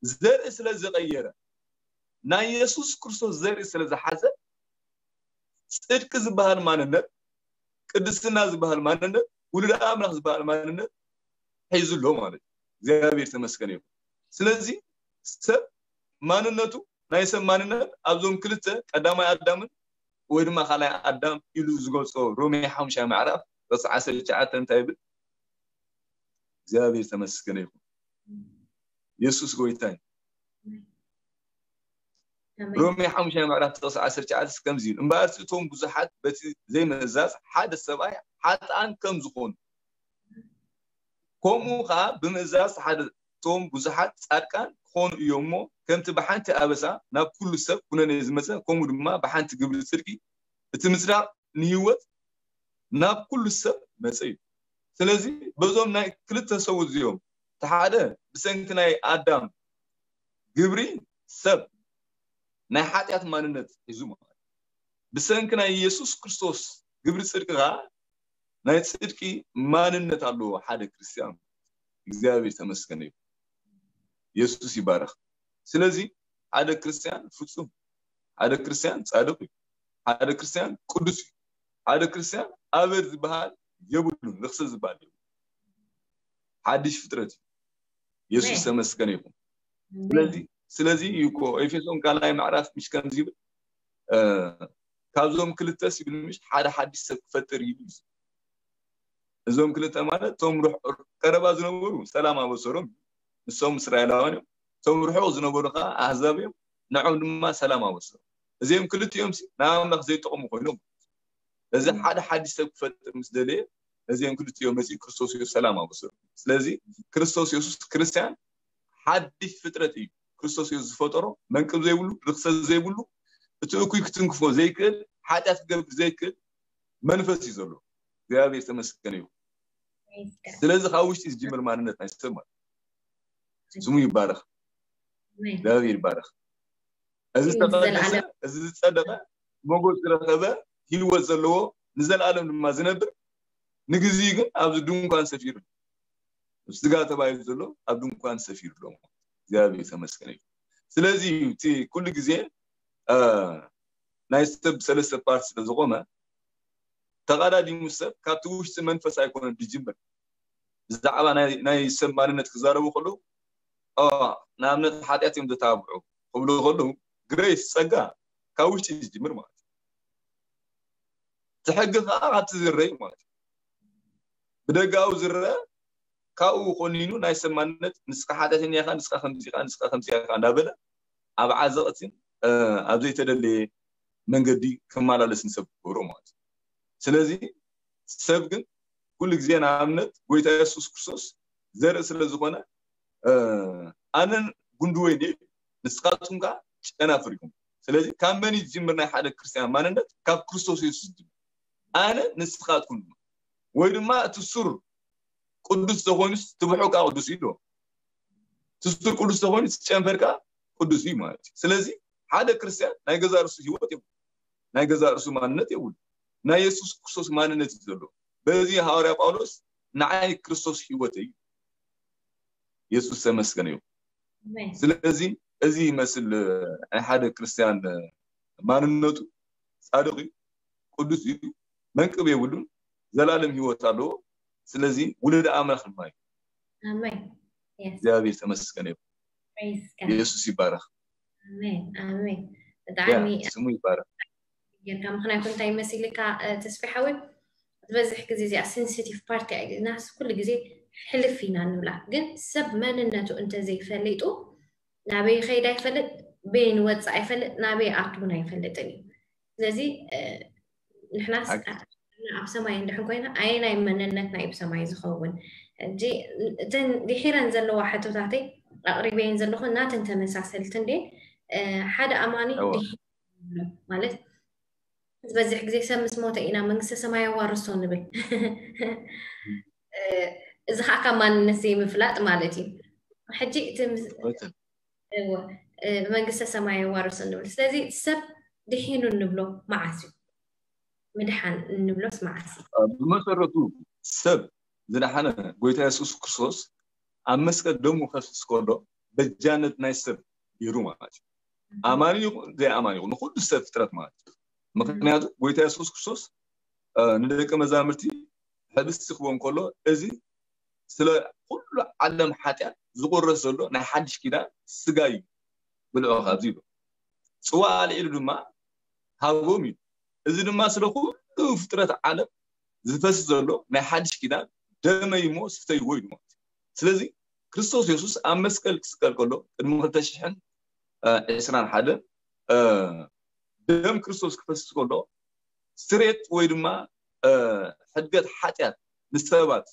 ዘርኢ ስለ ዝቀየረ ናይ የሱስ ክርስቶስ ዘርኢ ስለ ዝሓዘ ፅድቂ ዝበሃል ማንነት፣ ቅድስና ዝበሃል ማንነት፣ ውሉድ ኣምላኽ ዝበሃል ማንነት ሒዙ ኣሎ ማለት እዩ። እግዚኣብሔር ተመስገን ይኹን። ስለዚ ሰብ ማንነቱ ናይ ሰብ ማንነት ኣብዞም ክልተ ቀዳማይ ኣዳምን ወይ ድማ ካልኣይ ኣዳም ኢሉ ዝገልጾ ሮሜ ሓሙሻይ ምዕራፍ ገጽ ዓሰርተ ትሽዓተ እንታይ ይብል? እግዚኣብሔር ተመስገነ ይኹን። የሱስ ጎይታ እዩ። ሮሜ ሓሙሻይ ምዕራፍ ጥቕሲ ዓሰርተ ትሽዓተ ከምዚ ይብል፣ እምበኣርሲ እቶም ብዙሓት በቲ ዘይምእዛዝ ሓደ ሰብኣይ ሓጥኣን ከም ዝኾኑ፣ ከምኡ ኸዓ ብምእዛዝ ሓደ እቶም ብዙሓት ጻድቃን ክኾኑ እዮም እሞ፣ ከምቲ ብሓንቲ ኣበሳ ናብ ኩሉ ሰብ ኩነኔ ዝመጸ፣ ከምኡ ድማ ብሓንቲ ግብሪ ጽድቂ እቲ ምጽዳቕ ንህይወት ናብ ኩሉ ሰብ መጸ እዩ። ስለዚ በዞም ናይ ክልተ ሰው እዚኦም፣ እቲ ሓደ ብሰንኪ ናይ ኣዳም ግብሪ ሰብ ናይ ሓጢኣት ማንነት ሒዙ ማለት፣ ብሰንኪ ናይ ኢየሱስ ክርስቶስ ግብሪ ጽድቂ ኸዓ ናይ ጽድቂ ማንነት ኣለዎ ሓደ ክርስቲያን። እግዚኣብሔር ተመስገነ ይኹን። የሱስ ይባረኽ። ስለዚ ሓደ ክርስቲያን ፍጹም፣ ሓደ ክርስቲያን ጻድቕ እዩ፣ ሓደ ክርስቲያን ቅዱስ እዩ፣ ሓደ ክርስቲያን ኣበር ዝበሃል የብሉን፣ ርክሰ ዝበሃል የብሉን። ሓድሽ ፍጥረት እዩ። የሱስ ተመስገነ ይኹን። ስለዚ ስለዚ እዩ እኮ ኤፌሶን ካልኣይ ምዕራፍ ምሽ ከምዚ ይብል፣ እ፣ ካብዞም ክልተስ ይብል ምሽ ሓደ ሓድሽ ሰብ ክፈጥር እዩ። እዞም ክልተ ማለት እቶም ርሕ-፣ ቀረባ ዝነበሩ ሰላም ኣበሰሮም፣ ንሶም እስራኤላውያን እዮም። እቶም ርሑቕ ዝነበሩ ከዓ ኣህዛብ እዮም፣ ንዖም ድማ ሰላም ኣበሰሮም። እዚኦም ክልቲኦም ሲ ንኣምላኽ ዘይጠቕሙ ኮይኖም፣ እዚ ሓደ ሓድሽ ሰብ ክፈጥር ምስ ደለየ እዚኦም ክልቲኦም መፂኡ ክርስቶስ የሱስ ሰላም ኣበሰሮም። ስለዚ ክርስቶስ የሱስ ክርስቲያን ሓድሽ ፍጥረት እዩ። ክርስቶስ የሱስ ዝፈጠሮ መንቅብ ዘይብሉ፣ ርክሰት ዘይብሉ፣ እቲ እኩይ ክትንክፎ ዘይክእል፣ ሓጢኣት ክገብር ዘይክእል መንፈስ እዩ ዘሎ። እግዚኣብሔር ተመስገን እዩ። ስለዚ ካብ ውሽጢ ዝጅምር ማንነት ናይ ሰብ ማለት ስሙ ይባረኽ። እግዚኣብሔር ይባረኽ። እዚ ዝተቀደሰ፣ እዚ ዝጸደቀ፣ ሞገስ ዝረኸበ፣ ህይወት ዘለዎ፣ ንዘለኣለም ድማ ዝነብር፣ ንግዜኡ ግን ኣብዚ ድንኳን ሰፊሩ፣ ስጋ ተባሂሉ ዘሎ ኣብ ድንኳን ሰፊሩ ኣሎ። እግዚኣብሔር ተመስገን እዩ። ስለዚ እቲ ኩሉ ግዜ እ፣ ናይ ሰብ ሰለስተ ፓርት ስለ ዝቆመ ተቐዳዲሙ ሰብ ካብቲ ውሽጢ መንፈስ ኣይኮነን ዝጅምር። ብዛዕባ ናይ ናይ ሰብ ማንነት ክዛረቡ ከለዉ፣ ኦ፣ ንኣብነት ሓጢኣት እዮም ዘተባብዑ ክብሉ ከለዉ፣ ግሬስ፣ ጸጋ፣ ካብ ውሽጢ ዝጅምር ማለት እዩ። እቲ ሕጊ ከዓ ካብቲ ዝረይ ማለት እዩ። ብደጋዊ ዝረአ ካብኡ ኮኒኑ ናይ ሰብ ማንነት ንስኻ ሓጢኣተኛ ኢኻ፣ ንስኻ ከምዚ ኢኻ፣ ንስኻ ከምዚ ኢኻ እንዳበለ ኣብ ዓዘቕትን ኣብ ዘይተደለየ መንገዲ ክመላለስ ንሰብ ክገብሮ ማለት እዩ። ስለዚ ሰብ ግን ኩሉ ግዜ ንኣብነት ጎይታ የሱስ ክርስቶስ ዘርኢ ስለ ዝኾነ ኣነን ጉንዲ ወይኒ እዩ። ንስኻትኩም ከኣ ጨናፍር ኢኹም። ስለዚ ካብ መን እዩ ዝጅምር ናይ ሓደ ክርስትያን ማንነት? ካብ ክርስቶስ የሱስ ዝጅምር። ኣነ ንስኻትኩም ድማ። ወይ ድማ እቲ ሱር ቅዱስ ተኾይኑስ እቲ ብሑቕ ከኣ ቅዱስ እዩ ኣሎ። እቲ ሱር ቅዱስ ተኾይኑ እቲ ጨንፈር ከኣ ቅዱስ እዩ ማለት እዩ። ስለዚ ሓደ ክርስትያን ናይ ገዛ ርእሱ ህይወት የብሉ። ናይ ገዛ ርእሱ ማንነት የብሉ። ናይ የሱስ ክርስቶስ ማንነት እዩ ዘሎ። በዚ ሃዋርያ ጳውሎስ ንዓይ ክርስቶስ ህይወት እዩ። የሱስ ተመስገን እዩ። ስለዚ እዚ ይመስል ናይ ሓደ ክርስትያን ማንነቱ። ጻድቕ እዩ፣ ቅዱስ እዩ፣ መንቅብ የብሉን፣ ዘላለም ህይወት ኣለዎ። ስለዚ ውሉድ ኣምላኽ ድማ እዩ። ኣሜን። እግዚኣብሔር ተመስገን እዩ። የሱስ ይባረክ። ኣሜን ኣሜን። ብጣዕሚ ስሙ ይባረክ። ጌርካ ምክንያቱ እንታይ መሲልካ ተስፊ ሓወይ፣ ዝበዝሕ ግዜ እዚኣ ሴንሲቲቭ ፓርቲ እያ። ናስ ኩሉ ግዜ ሕልፍ ኢና ንብላ፣ ግን ሰብ መንነቱ እንተዘይፈሊጡ ናበይ ይኸይድ ኣይፈልጥ፣ በይን ወፅእ ኣይፈልጥ፣ ናበይ ኣቱ እውን ኣይፈልጥን እዩ። ስለዚ ንሕናስ ኣብ ሰማይ እንድሕን ኮይና ኣየናይ መንነትና እዩ ብሰማይ ዝኸውን? ሕጂ እተን ድሒረን ዘለዋ ሕቶታተይ ኣቕሪበየን ዘለኹ ናተን ተመሳሰልቲ እንዴ። ሓደ ኣማኒ ማለት ዝበዝሕ ግዜ ሰብ ምስ ሞተ ኢና መንግስተ ሰማይ ኣዋርሶ ንብል። እዚ ከዓ ካብ ማንነት ዘይምፍላጥ ማለት እዩ። ሕጂ እቲ መንግስተ ሰማይ ኣዋርሶ ንብል። ስለዚ ሰብ ድሒኑ እንብሎ መዓስ እዩ? ምድሓን እንብሎስ መዓስ እዩ? ብመሰረቱ ሰብ ዝደሓነ ጎይታ የሱስ ክርስቶስ ኣብ መስቀል ደሙ ከፍስስ ከሎ በጃነት ናይ ሰብ ገይሩ ማለት እዩ። ኣማኒ ይኹን ዘይኣማኒ ይኹን ንኩሉ ሰብ ፍጥረት ማለት እዩ። ምክንያቱ ጎይታ የሱስ ክርስቶስ ንደቂ መዛምርቲ ሕብስቲ ክቦም ከሎ እዚ ስለ ኩሉ ዓለም ሓጢኣት ዝቁረስ ዘሎ ናይ ሓድሽ ኪዳን ስጋ እዩ፣ ብልዑ ካብዚ ይብሎ። ጽዋ ኣልዒሉ ድማ ሃቦም እዩ። እዚ ድማ ስለ ኩሉ ፍጥረት ዓለም ዝፈስ ዘሎ ናይ ሓድሽ ኪዳን ደመይ እሞ ስተይዎ ኢሉ ማለት እዩ። ስለዚ ክርስቶስ የሱስ ኣብ መስቀል ክስቀል ከሎ ቅድሚ ክልተ ሽሕን ዕስራን ሓደን ደም ክርስቶስ ክፈስስ ከሎ ስሬት ወይ ድማ ሕድገት ሓጢኣት ንሰባት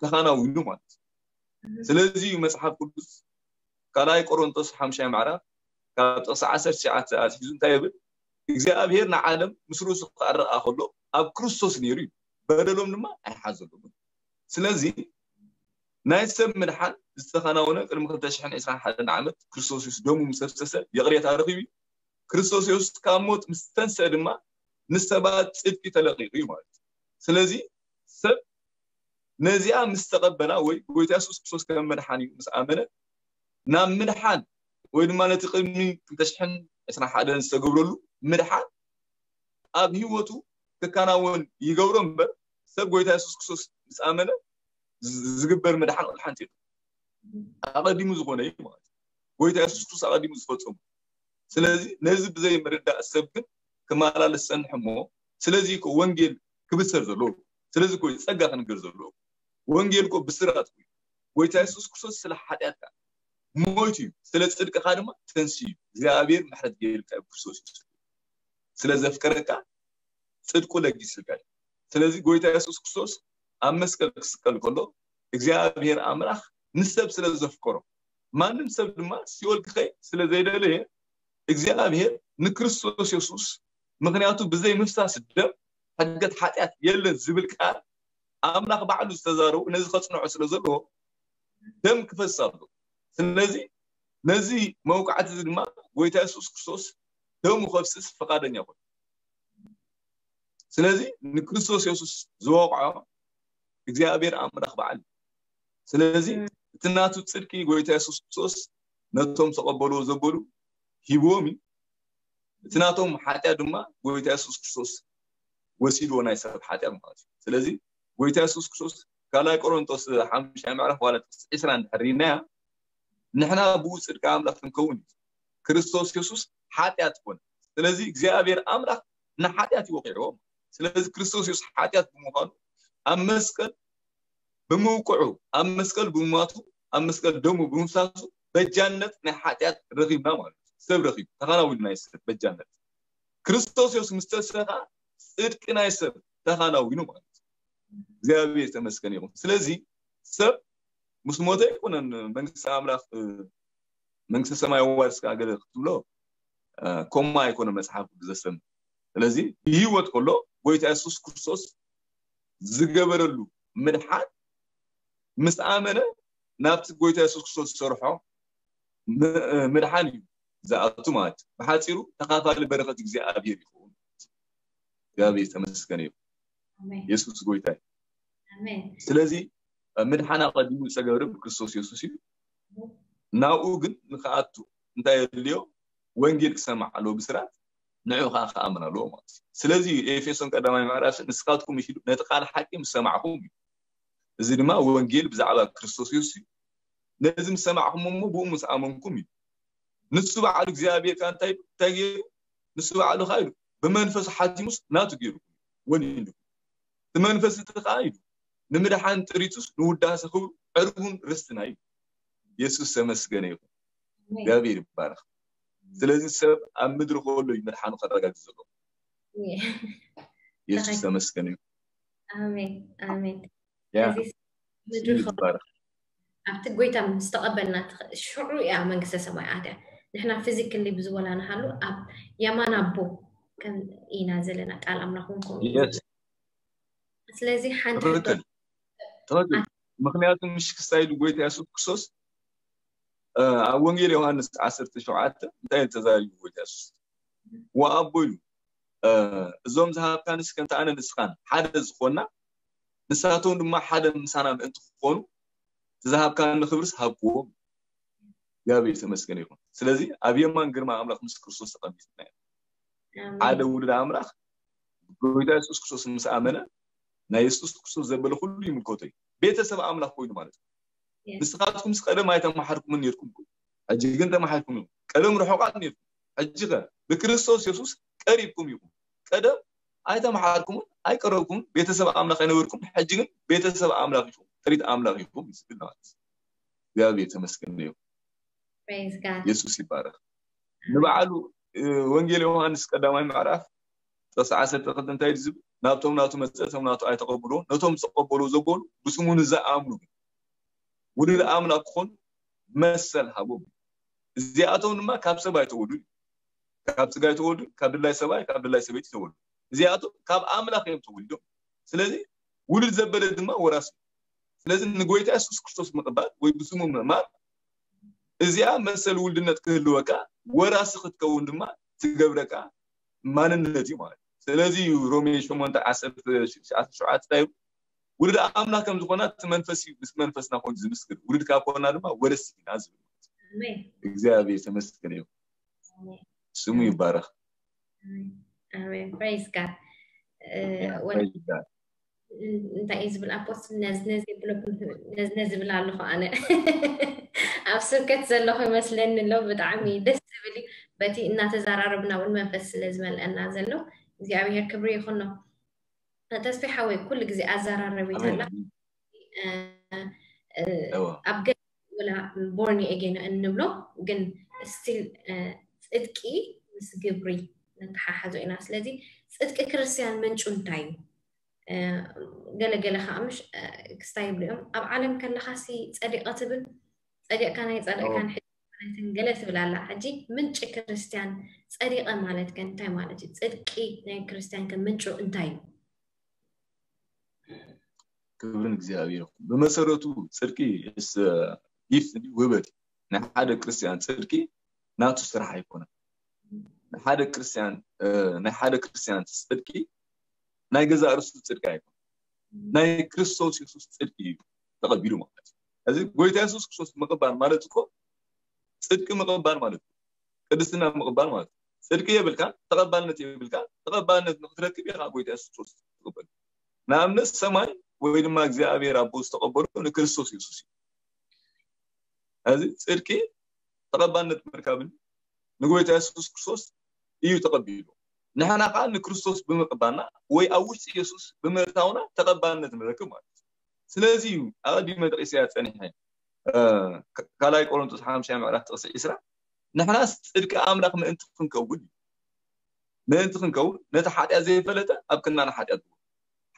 ተኻናዊኑ ማለት እዩ። ስለዚ እዩ መጽሓፍ ቅዱስ ካልኣይ ቆሮንቶስ ሓምሻይ ምዕራፍ ካብ ጥቕሲ ዓሰርተ ትሽዓተ ኣትሒዙ እንታይ ይብል? እግዚኣብሔር ንዓለም ምስ ርእሱ ክኣረቓ ከሎ ኣብ ክርስቶስ ነይሩ እዩ፣ በደሎም ድማ ኣይሓዘሎምን። ስለዚ ናይ ሰብ ምድሓን ዝተኸናወነ ቅድሚ ክልተ ሽሕን ዕስራን ሓደን ዓመት ክርስቶስ የሱስ ደሙ ምስ ኣፍሰሰ ይቕሬታ ረኺቡ እዩ። ክርስቶስ የሱስ ካብ ሞት ምስ ተንስአ ድማ ንሰባት ጽድቂ ተለቒቑ እዩ ማለት እዩ። ስለዚ ሰብ ነዚኣ ምስ ተቐበላ ወይ ጎይታ የሱስ ክርስቶስ ከም መድሓኒ ምስ ኣመነ ናብ ምድሓን ወይ ድማ ነቲ ቅድሚ ክልተ ሽሕን ዕስራን ሓደን ዝተገብረሉ ምድሓን ኣብ ህይወቱ ክከናወን ይገብሮ እምበር ሰብ ጎይታ የሱስ ክርስቶስ ምስ ኣመነ ዝግበር ምድሓን ወላ ሓንቲ ኣቐዲሙ ዝኾነ እዩ ማለት እዩ። ጎይታ የሱስ ክርስቶስ ኣቐዲሙ ዝፈጸሙ። ስለዚ ነዚ ብዘይ ምርዳእ ሰብ ግን ክመላለስ ጸንሕ እሞ ስለዚ እኮ ወንጌል ክብሰር ዘለዎ ስለዚ እኮ ጸጋ ክንገር ዘለዎ ወንጌል እኮ ብስራት እዩ። ጎይታ የሱስ ክርስቶስ ስለ ሓጢኣትካ ሞይቱ እዩ፣ ስለ ጽድቅኻ ድማ ተንስኡ እዩ። እግዚኣብሔር ምሕረት ገይሩልካ እዩ ክርስቶስ የሱስ ስለ ዘፍቀረካ ጽድቁ ለጊስልካ እዩ። ስለዚ ጎይታ የሱስ ክርስቶስ ኣብ መስቀል ክስቀል ከሎ እግዚኣብሔር ኣምላኽ ንሰብ ስለ ዘፍቀሮ ማንም ሰብ ድማ ሲኦል ክኸይ ስለ ዘይደለየ እግዚኣብሔር ንክርስቶስ የሱስ ምክንያቱ ብዘይ ምፍሳስ ደም ሕድገት ሓጢኣት የለን ዝብል ቃል ኣምላኽ ባዕሉ ዝተዛረቡ ነዚ ከጽንዖ ስለ ዘለዎ ደም ክፈስስ ኣሎ። ስለዚ ነዚ መውቃዕቲ እዚ ድማ ጎይታ የሱስ ክርስቶስ ደሙ ከፍስስ ፈቃደኛ ኮይኑ ስለዚ ንክርስቶስ የሱስ ዝወቕዖ እግዚኣብሔር ኣምላኽ በዓል ስለዚ እቲ ናቱ ጽድቂ ጎይታ የሱስ ክርስቶስ ነቶም ተቐበልዎ ዘበሉ ሂብዎም እዩ። እቲ ናቶም ሓጢኣት ድማ ጎይታ የሱስ ክርስቶስ ወሲድዎ ናይ ሰብ ሓጢኣት ማለት እዩ። ስለዚ ጎይታ የሱስ ክርስቶስ ካልኣይ ቆሮንቶስ ሓሙሽተ ምዕራፍ ዋላ ጥቅሲ ዕስራ እንድሕር ርኢናያ ንሕና ብኡ ጽድቂ ኣምላኽ ክንከውን እዩ። ክርስቶስ የሱስ ሓጢኣት ኮነ። ስለዚ እግዚኣብሔር ኣምላኽ ንሓጢኣት ይወቂዕዎ። ስለዚ ክርስቶስ የሱስ ሓጢኣት ብምዃኑ ኣብ መስቀል ብምውቅዑ ኣብ መስቀል ብምማቱ ኣብ መስቀል ደሙ ብምፍሳሱ በጃነት ናይ ሓጢኣት ረኺብና ማለት እዩ። ሰብ ረኺቡ ተኻናዊሉ ናይ ሰብ በጃነት ክርስቶስ የሱስ ምስ ተሰኻ ጽድቂ ናይ ሰብ ተኻናዊኑ ማለት እዩ። እግዚኣብሔር ተመስገን ይኹን። ስለዚ ሰብ ምስ ሞተ ኣይኮነን መንግስቲ ኣምላኽ መንግስተ ሰማይ ኣዋርስካ ገለ ክትብሎ ከምኡ ኣይኮነ መፅሓፍ ቅዱስ ዘስተምር። ስለዚ ብህይወት ከሎ ጎይታ የሱስ ክርስቶስ ዝገበረሉ ምድሓን ምስ ኣመነ ናብቲ ጎይታ የሱስ ክርስቶስ ዝሰርሖ ምድሓን እዩ ዝኣቱ ማለት እዩ። ብሓፂሩ ተኻፋሊ በረኸት እግዚኣብሔር ይኸውን። እግዚኣብሔር ዝተመስገነ እዩ። የሱስ ጎይታ እዩ። ስለዚ ምድሓን ኣቐዲሙ ዝተገብረ ብክርስቶስ የሱስ እዩ። ናብኡ ግን ንክኣቱ እንታይ የድልዮ? ወንጌል ክሰማዕ ኣለዎ ብስራት፣ ንዑ ከዓ ክኣምን ኣለዎ ማለት እዩ። ስለዚ ኤፌሶን ቀዳማይ ምዕራፍ ንስኻትኩም ኢሉ ነቲ ቃል ሓቂ ምስ ሰማዕኹም እዩ። እዚ ድማ ወንጌል ብዛዕባ ክርስቶስ የሱስ እዩ። ነዚ ምስ ሰማዕኹም እሞ ብኡ ምስ ኣመንኩም እዩ። ንሱ ባዕሉ እግዚኣብሔር ከዓ እንታይ እንታይ ገይሩ? ንሱ ባዕሉ ከዓ ኢሉ ብመንፈሱ ሓቲሙስ ናቱ ገይሩ ወኒኑ። እቲ መንፈስ እቲ ከዓ ኢሉ ንምድሓን ጥሪቱስ ንውዳሰ ክብሩ ዕርቡን ርስትና እዩ። የሱስ ተመስገነ ይኹን። እግዚኣብሔር ይባረክ። ስለዚ ሰብ ኣብ ምድሪ ከሎ እዩ ምድሓኑ ከረጋግፅ ዘለዎ። የሱስ ተመስገነ ይኹን። ኣሜን ኣሜን። ያ እዚ ምድሪ ከሎ ይባረክ። ኣብቲ ጎይታ ምስ ተቐበልና ትኽ- ሽዑ እያ መንግስተ ሰማይ ኣትያ። ንሕና ፊዚክሊ ብዝበላ ንሃሉ ኣብ የማን ኣቦ ከም ኢና ዘለና ቃል ኣምላኽ እውን ከምኡ እዩ የስ ዝብል። ስለዚ ሓንቲ ትኽክል ትኽክል። ምክንያቱ ምሽ ክስታይ ኢሉ ጎይታ የሱስ ክርስቶስ እ፣ ኣብ ወንጌል ዮሃንስ ዓሰርተ ሸውዓተ እንታይ እዩ ተዛሪቡ ጎይታ የሱስ? ወኣቦ ኢሉ እ፣ እዞም ዝሃብካንስ ከምቲ ኣነ ንስኻን ሓደ ዝኾንና ንሳቶም ድማ ሓደ ምሳና ምእንቲ ክኾኑ እቲ ዝሃብካኒ ክብርስ ሃብክዎም። እግዚኣብሔር የተመስገነ ይኹን። ስለዚ ኣብ የማን ግርማ ኣምላኽ ምስ ክርስቶስ ተቐሚጥና ኢና። ሓደ ውሉድ ኣምላኽ ጎይታ የሱስ ክርስቶስ ምስ ኣመነ ናይ የሱስ ክርስቶስ ዘበለ ኩሉ ይምልከቶ እዩ። ቤተሰብ ኣምላኽ ኮይኑ ማለት እዩ። ንስኻትኩምስ ቀደም ኣይተማሓርኩምን ነርኩም፣ ሕጂ ግን ተማሓርኩም ኢኹም። ቀደም ርሑቓት ነርኩም፣ ሕጂ ኸ ብክርስቶስ የሱስ ቀሪብኩም ኢኹም። ቀደም ኣይተማሓርኩምን ኣይቀረብኩምን፣ ቤተሰብ ኣምላኽ ኣይነበርኩም፣ ሕጂ ግን ቤተሰብ ኣምላኽ ኢኹም፣ ጥሪት ኣምላኽ ኢኹም ዝብል ማለት እዩ። እግዚኣብሔር ተመስገን እዩ። Praise God. የሱስ ይባረክ። ንባዕሉ እ፣ ወንጌል ዮሃንስ ቀዳማይ ምዕራፍ ጥቕሲ ዓሰርተ ክልተ እንታይ እዩ ዝብል? ናብቶም ናቱ መጸ፣ እቶም ናቱ ኣይተቐብልዎ፣ ነቶም ዝተቐበልዎ ዘበሉ ብስሙ ንዝኣምኑ ግን ውሉድ ኣምላኽ ክኾኑ መሰል ሃቦም። እዚኣቶም ድማ ካብ ሰብ ኣይተወልዱን፣ ካብ ስጋ ኣይተወልዱን፣ ካብ ድላይ ሰብኣይ ካብ ድላይ ሰበይቲ ተወልዱ። እዚኣቶም ካብ ኣምላኽ እዮም ተወሊዶም። ስለዚ ውሉድ ዘበለ ድማ ወራሲ። ስለዚ ንጎይታ የሱስ ክርስቶስ ምቕባል ወይ ብስሙ ምእማን እዚኣ መሰል ውልድነት ክህልወካ ወራሲ ክትከውን ድማ ትገብረካ ማንነት እዩ ማለት እዩ። ስለዚ እዩ ሮሜ ሸሞንተ ዓሰርተ ሸውዓተ እንታይ ይብል? ውሉድ ኣምላኽ ከም ዝኾና እቲ መንፈስ እዩ ምስ መንፈስና ኮይኑ ዝምስክር፣ ውሉድ ካብ ኮና ድማ ወረስቲ ኢና ዝብል ማለት እዩ። ኣሜን። እግዚኣብሔር ተመስገን እዩ። ስሙ ይባረክ። ኣሜን። Praise God. እ፣ ወ- Praise God። እንታይ እዩ ዝብል ኣፖስትል ነዝነዝ ይብለኩም ነዝነዝ ዝብል ኣለኹ ኣነ ኣብ ስብከት ዘለኹ ይመስለኒ ኣሎ። ብጣዕሚ ደስ ዝብል እዩ። በቲ እናተዘራረብና እውን መንፈስ ስለ ዝመልአና ዘሎ እግዚኣብሔር ክብሪ ይኹኖ። ተስፋ ሓወይ ኩሉ ግዜ ኣዘራረቢት ኣላ ኣሜን። እ፣ እ፣ እወ። ኣብ ገ ወላ ቦርኒ ኤጌን እንብሎ ግን ስቲል ጽድቂ ምስ ግብሪ ነተሓሓዞ ኢና። ስለዚ ጽድቂ ክርስትያን ምንጩ እንታይ እዩ? እ፣ ገለ ገለ ከዓ ምሽ እ፣ ክስታይ ይብሉ እዮም ኣብ ዓለም ከለካ ሲ ጸዲቐ ትብል ጸዲቕካ ናይ ጸድቕካን ሕጂ ኣይኮነትን ገለ ትብል ኣላ። ሕጂ ምንጪ ክርስትያን ጸዲቐ ማለት ከ እንታይ ማለት እዩ? ጽድቂ ናይ ክርስትያን ከ ምንጩ እንታይ እዩ? ክብርን እግዚኣብሔር ይኹን። ብመሰረቱ ጽድቂ ስ ጊፍት እንዲ ውህበት ናይ ሓደ ክርስትያን ጽድቂ ናቱ ስራሕ ኣይኮነን። ናይ ሓደ ክርስትያን እ፣ ናይ ሓደ ክርስትያን ጽድቂ ናይ ገዛእ ርእሱ ጽድቂ ኣይኮነን። ናይ ክርስቶስ የሱስ ጽድቂ እዩ ተቐቢሉ ማለት እዩ። እዚ ጎይታ የሱስ ክርስቶስ ምቕባል ማለት እኮ ጽድቂ ምቕባል ማለት እዩ። ቅድስና ምቕባል ማለት እዩ። ጽድቂ የብልካ፣ ተቐባልነት የብልካ። ተቐባልነት ንክትረክብ ኢኻ ጎይታ የሱስ ክርስቶስ ትቕበል። ንኣብነት ሰማይ ወይ ድማ እግዚኣብሔር ኣቦ ዝተቐበሎ ንክርስቶስ የሱስ እዩ። እዚ ጽድቂ ተቐባልነት ምርካብን ንጎይታ የሱስ ክርስቶስ እዩ ተቐቢሉ። ንሕና ከዓ ንክርስቶስ ብምቕባልና ወይ ኣብ ውሽጢ የሱስ ብምእታውና ተቐባልነት ንረክብ ማለት እዩ። ስለዚ እዩ ኣቐዲመ ጠቂሰያ ጸኒሐ እ፣ ካ- ካልኣይ ቆሮንቶስ ሓምሻይ ምዕራፍ ጥቕሲ ዕስራ ንሕናስ ጽድቂ ኣምላኽ ምእንቲ ክንከውን እዩ። ምእንቲ ክንከውን ነቲ ሓጢኣት ዘይፈለጠ ኣብ ክንዳና ሓጢኣት ዝወ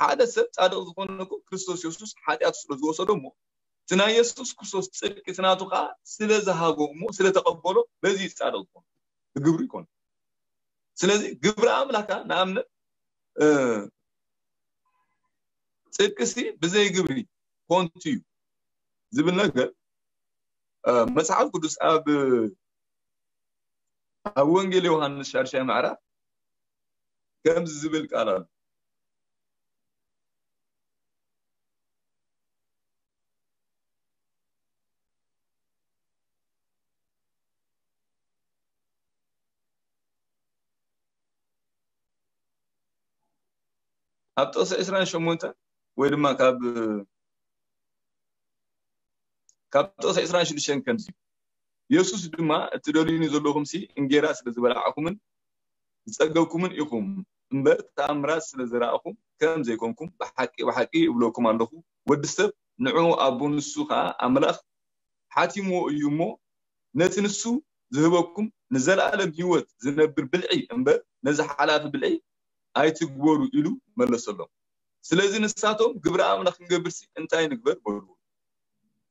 ሓደ ሰብ ጻድቕ ዝኾነ እኮ ክርስቶስ የሱስ ሓጢኣቱ ስለ ዝወሰዶ እሞ እቲ ናይ የሱስ ክርስቶስ ጽድቂ እቲ ናቱ ከዓ ስለ ዝሃቦ እሞ ስለ ተቐበሎ በዚ ይጻደቕ ዝኾነ ብግብሩ ይኮን። ስለዚ ግብሪ ኣምላካ ንኣብነት እ፣ ጽድቅሲ ብዘይ ግብሪ ኮንቱ እዩ ዝብል ነገር እ፣ መጽሓፍ ቅዱስ ኣብ ኣብ ወንጌል ዮሃንስ ሻድሻይ ምዕራፍ ከምዚ ዝብል ቃል ኣሎ። ኣብ ጥቕሲ ዕስራን ሸሞንተን ወይ ድማ ካብ ካብ ጥቕሲ ዕስራን ሽዱሽተን ከምዚ እዩ። የሱስ ድማ፣ "እቲ ደልዩኒ ዘለኹምሲ እንጌራ ስለ ዝበላዕኩምን ዝጸገብኩምን ኢኹም እምበር፣ ተኣምራት ስለ ዘራእኹም ከም ዘይኮንኩም ብሓቂ ብሓቂ እብለኩም ኣለኹ። ወዲ ሰብ ንዕኡ ኣቦ፣ ንሱ ኸኣ ኣምላኽ ሓቲምዎ እዩ እሞ፣ ነቲ ንሱ ዝህበኩም ንዘለኣለም ህይወት ዝነብር ብልዒ እምበር፣ ነዚ ሓላፊ ብልዒ ኣይትግበሩ" ኢሉ መለሰሎም። ስለዚ ንሳቶም፣ "ግብሪ ኣምላኽ ክንገብርሲ እንታይ ንግበር?" በልዎ።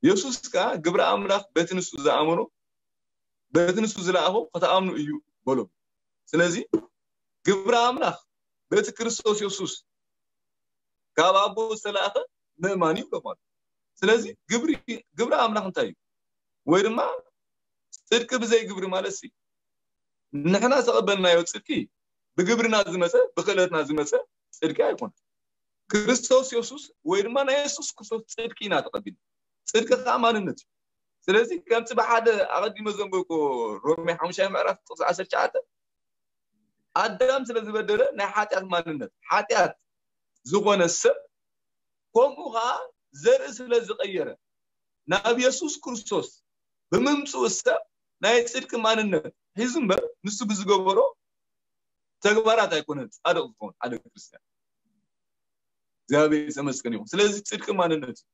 የሱስ ከኣ፣ "ግብሪ ኣምላኽ በቲ ንሱ ዝኣመኖ፣ በቲ ንሱ ዝለኣኾ ክትኣምኑ እዩ" በሎም። ስለዚ ግብሪ ኣምላኽ በቲ ክርስቶስ የሱስ ካብ ኣቦ ዝተላእኸ ምእማን እዩ ብሎም ኣሎ። ስለዚ ግብሪ፣ ግብሪ ኣምላኽ እንታይ እዩ? ወይ ድማ ጽድቂ ብዘይ ግብሪ ማለት ሲ ንሕና ዝተቐበልናዮ ጽድቂ ብግብርና ዝመጸ፣ ብክእለትና ዝመጸ ጽድቂ ኣይኮነን። ክርስቶስ የሱስ ወይ ድማ ናይ የሱስ ክርስቶስ ጽድቂ ኢና ተቐቢልና። ጽድቂ ከዓ ማንነት እዩ። ስለዚ ከምቲ ብሓደ ኣቐዲመ ዘንበብኩ ሮሜ ሓሙሻይ ምዕራፍ ጥቕሲ ዓሰርተ ትሽዓተ ኣዳም ስለ ዝበደለ ናይ ሓጢኣት ማንነት፣ ሓጢኣት ዝኾነ ሰብ ከምኡ ከዓ ዘርኢ ስለ ዝቐየረ ናብ የሱስ ክርስቶስ ብምምፅኡ ሰብ ናይ ጽድቂ ማንነት ሒዙ እምበር ንሱ ብዝገበሮ ተግባራት ኣይኮነን ጻድቕ ዝኸውን ሓደ ክርስትያን። እግዚኣብሔር የተመስገን ይኹን። ስለዚ ጽድቂ ማንነት እዩ።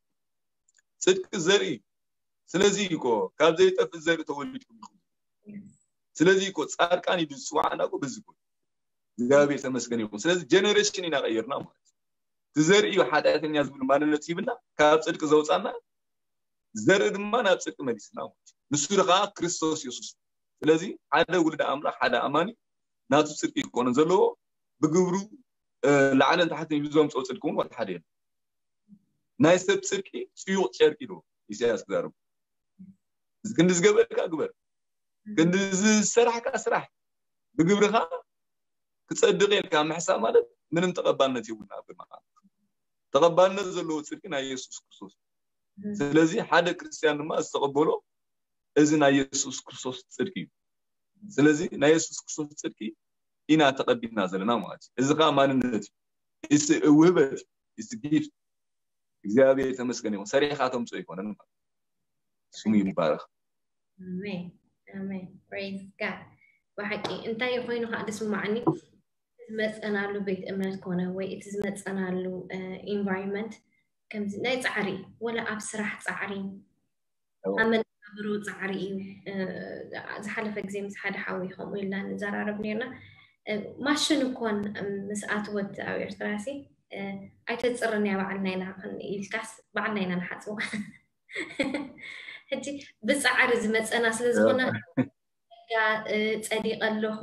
ጽድቂ ዘርኢ። ስለዚ እኮ ካብ ዘይጠፍእ ዘርኢ ተወሊድኩም ኢኹም። ስለዚ እኮ ጻድቃን ኢሉ ዝጽዋዓና እኮ በዚ እኮ እዩ። እግዚኣብሔር ተመስገን ይኹን። ስለዚ ጀነሬሽን ኢና ቀይርና ማለት እዩ። እቲ ዘርኢ እዩ ሓጢኣተኛ ዝብል ማንነት ሂብና ካብ ጽድቂ ዘውጻና ዘርኢ ድማ ናብ ጽድቂ መሊስና ማለት እዩ። ንሱ ከዓ ክርስቶስ የሱስ። ስለዚ ሓደ ውልደ ኣምላኽ ሓደ ኣማኒ ናቱ ጽድቂ ክኾነ ዘለዎ ብግብሩ እ፣ ላዕልን ታሕትን ኢሉ ዘምፅኦ ጽድቂ እውን ዋላ ሓደ የለን። ናይ ሰብ ጽድቂ ጽዩቕ ጨርቂ ኢሉ ኢሳያስ ክዛረቡ። ክንዲ ዝገበርካ ግበር፣ ክንዲ ዝሰራሕካ ስራሕ፣ ብግብርኻ ክጸድቕ ኢልካ ምሕሳብ ማለት ምንም ተቐባልነት የብሉን ኣብ ቅድሚ ኣምላኽ። ተቐባልነት ዘለዎ ጽድቂ ናይ የሱስ ክርስቶስ። ስለዚ ሓደ ክርስትያን ድማ ዝተቐበሎ እዚ ናይ የሱስ ክርስቶስ ጽድቂ እዩ። ስለዚ ናይ የሱስ ክርስቶስ ጽድቂ ኢና ተቐቢልና ዘለና ማለት እዩ። እዚ ከዓ ማንነት እዩ። እዚ ውህበት እዩ። እዚ ጊፍት እግዚኣብሔር የተመስገነ ይኹን። ሰሪሕካ ተምፅኦ ኣይኮነን ማለት እዩ። ስሙ ይባረክ። ኣሜን ኣሜን። Praise God። ብሓቂ እንታይ ኮይኑ ከዓ ደስ ምማዓኒ፣ ዝመፀናሉ ቤት እምነት ኮነ ወይ እቲ ዝመፀናሉ ኢንቫይሮንመንት ከምዚ ናይ ፃዕሪ፣ ወላ ኣብ ስራሕ ፃዕሪ፣ ኣብ መነባብሮ ፃዕሪ እዩ። ዝሓለፈ ግዜ ምስ ሓደ ሓዊ ከምኡ ኢልና ንዘራረብ ነርና። ማሽን እኮን ምስ ኣትወት ኣብ ኤርትራ ሲ ኣይተፅርን እያ፣ ባዕልና ኢና ኢልካስ ባዕልና ኢና ንሓፅቦ። ሕጂ ብፃዕሪ ዝመፀና ስለ ዝኾነ ጸዲቀ ኣለኹ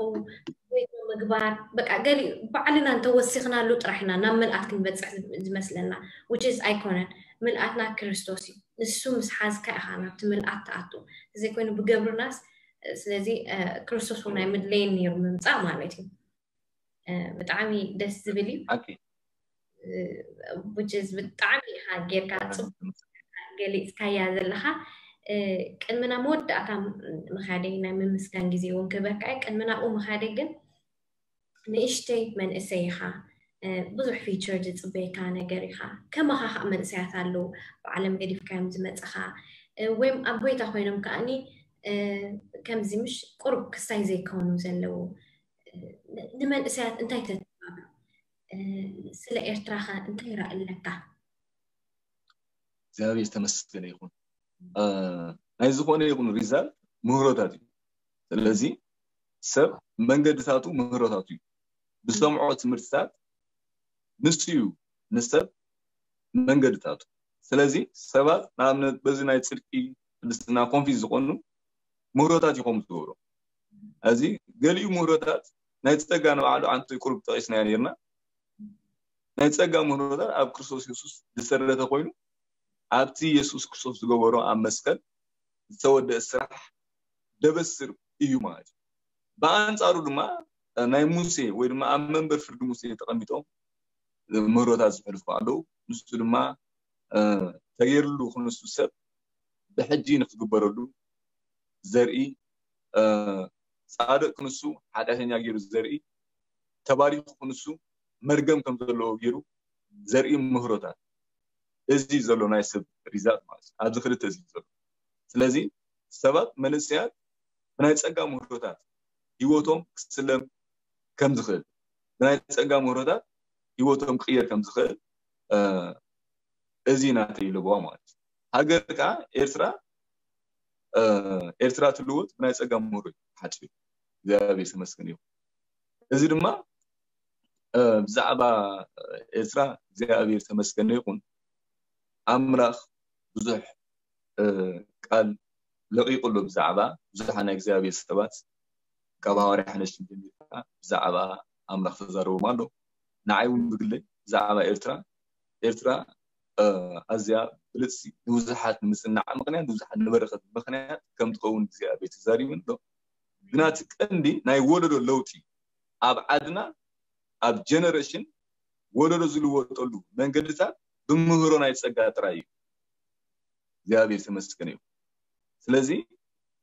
ወይ ምግባር፣ በቃ ገሊኡ ባዕልና እንተወሲኽናሉ ጥራሕ ኢና ናብ ምልኣት ክንበፅሕ ዝመስለና። Which is ኣይኮነን። ምልኣትና ክርስቶስ እዩ። ንሱ ምስ ሓዝካ ኢኻ ናብቲ ምልኣት ትኣቱ። እንተዘይኮይኑ ብገብርናስ፣ ስለዚ ክርስቶስ እውን ኣይምድለየን ነይሩ ምምፃእ ማለት እዩ። ብጣዕሚ ደስ ዝብል እዩ። Which is ብጣዕሚ ኢኻ ጌርካ ፅቡቅ ገሊፅካያ ዘለኻ። ቅድምና መወዳእታ ምኻደይ ናይ ምምስጋን ግዜ እውን ክህበካ እየ። ቅድሚ ናብኡ ምኻደይ ግን ንእሽተይ መንእሰይ ኢኻ፣ ብዙሕ ፊቸር ዝፅበየካ ነገር ኢኻ። ከማኻ ከዓ መንእሰያት ኣለዉ፣ ባዕሎም ገዲፍካዮም ዝመፅኻ ወይም ኣብ ጎይታ ኮይኖም ከዓኒ ከምዚ ምሽ ቁሩብ ክስታይ ዘይከውኑ ዘለዉ ንመንእሰያት እንታይ ተተባብዑ? ስለ ኤርትራኸ እንታይ ራኢ ኣለካ? እግዚኣብሔር ዝተመስገነ ይኹን። ናይ ዝኾነ ይኹን ሪዛልት ምህሮታት እዩ። ስለዚ ሰብ መንገድታቱ ምህሮታቱ እዩ። ብሰምዖ ትምህርትታት ንሱ እዩ ንሰብ መንገድታቱ። ስለዚ ሰባት ንኣብነት በዚ ናይ ጽድቂ ቅድስና ኮንፊዝ ዝኾኑ ምህሮታት ይኾኑ ዝገብሩ። እዚ ገሊኡ ምህሮታት ናይ ጸጋ ንባዕሉ ኣንቲ ቁሩብ ጠቂስናዮ ነርና። ናይ ጸጋ ምህሮታት ኣብ ክርስቶስ የሱስ ዝሰረተ ኮይኑ ኣብቲ የሱስ ክርስቶስ ዝገበሮ ኣብ መስቀል ዝተወደአ ስራሕ ደበስር እዩ ማለት እዩ። ብኣንጻሩ ድማ ናይ ሙሴ ወይ ድማ ኣብ መንበር ፍርዲ ሙሴ ተቐሚጦም ምህሮታት ዝሕልፉ ኣለዉ። ንሱ ድማ ተገይርሉ ክንሱ ሰብ ብሕጂ ንክግበረሉ ዘርኢ፣ ጻድቅ ክንሱ ሓጢኣተኛ ገይሩ ዘርኢ፣ ተባሪኩ ክንሱ መርገም ከም ዘለዎ ገይሩ ዘርኢ ምህሮታት። እዚ ዘሎ ናይ ሰብ ሪዛልት ማለት እዩ። ኣብዚ ክልተ እዚ ዘሎ። ስለዚ ሰባት መንእሰያት ብናይ ጸጋ ምህሮታት ህይወቶም ክስለም ከም ዝኽእል፣ ብናይ ጸጋ ምህሮታት ህይወቶም ክቕየር ከም ዝኽእል እዚ ናተይ ለበዋ ማለት እዩ። ሃገር ከዓ ኤርትራ ኤርትራ ትልወጥ ብናይ ጸጋ ምህሮ እዩ ሓጭ። እግዚኣብሔር ተመስገን ይኹን። እዚ ድማ ብዛዕባ ኤርትራ እግዚኣብሔር ተመስገን ይኹን። ኣምላኽ ብዙሕ ቃል ለቂቁ ኣሎ ብዛዕባ ብዙሓት ናይ እግዚኣብሔር ሰባት ካብ ሃዋርያ ሓነሽ ጀሚርካ ብዛዕባ ኣምላኽ ተዛረቦም ኣሎ። ንዓይ እውን ብግለይ ብዛዕባ ኤርትራ ኤርትራ ኣዝያ ብልጽቲ ንብዙሓት ንምጽናዕ ምኽንያት ንብዙሓት ንበረኸት ምኽንያት ከም ትኸውን እግዚኣብሔር ተዛሪቡ ኣሎ። ግና እቲ ቀንዲ ናይ ወለዶ ለውጢ ኣብ ዓድና ኣብ ጀነሬሽን ወለዶ ዝልወጠሉ መንገድታት ብምህሮ ናይ ጸጋ ጥራይ እዩ። እግዚኣብሔር ተመስገን እዩ። ስለዚ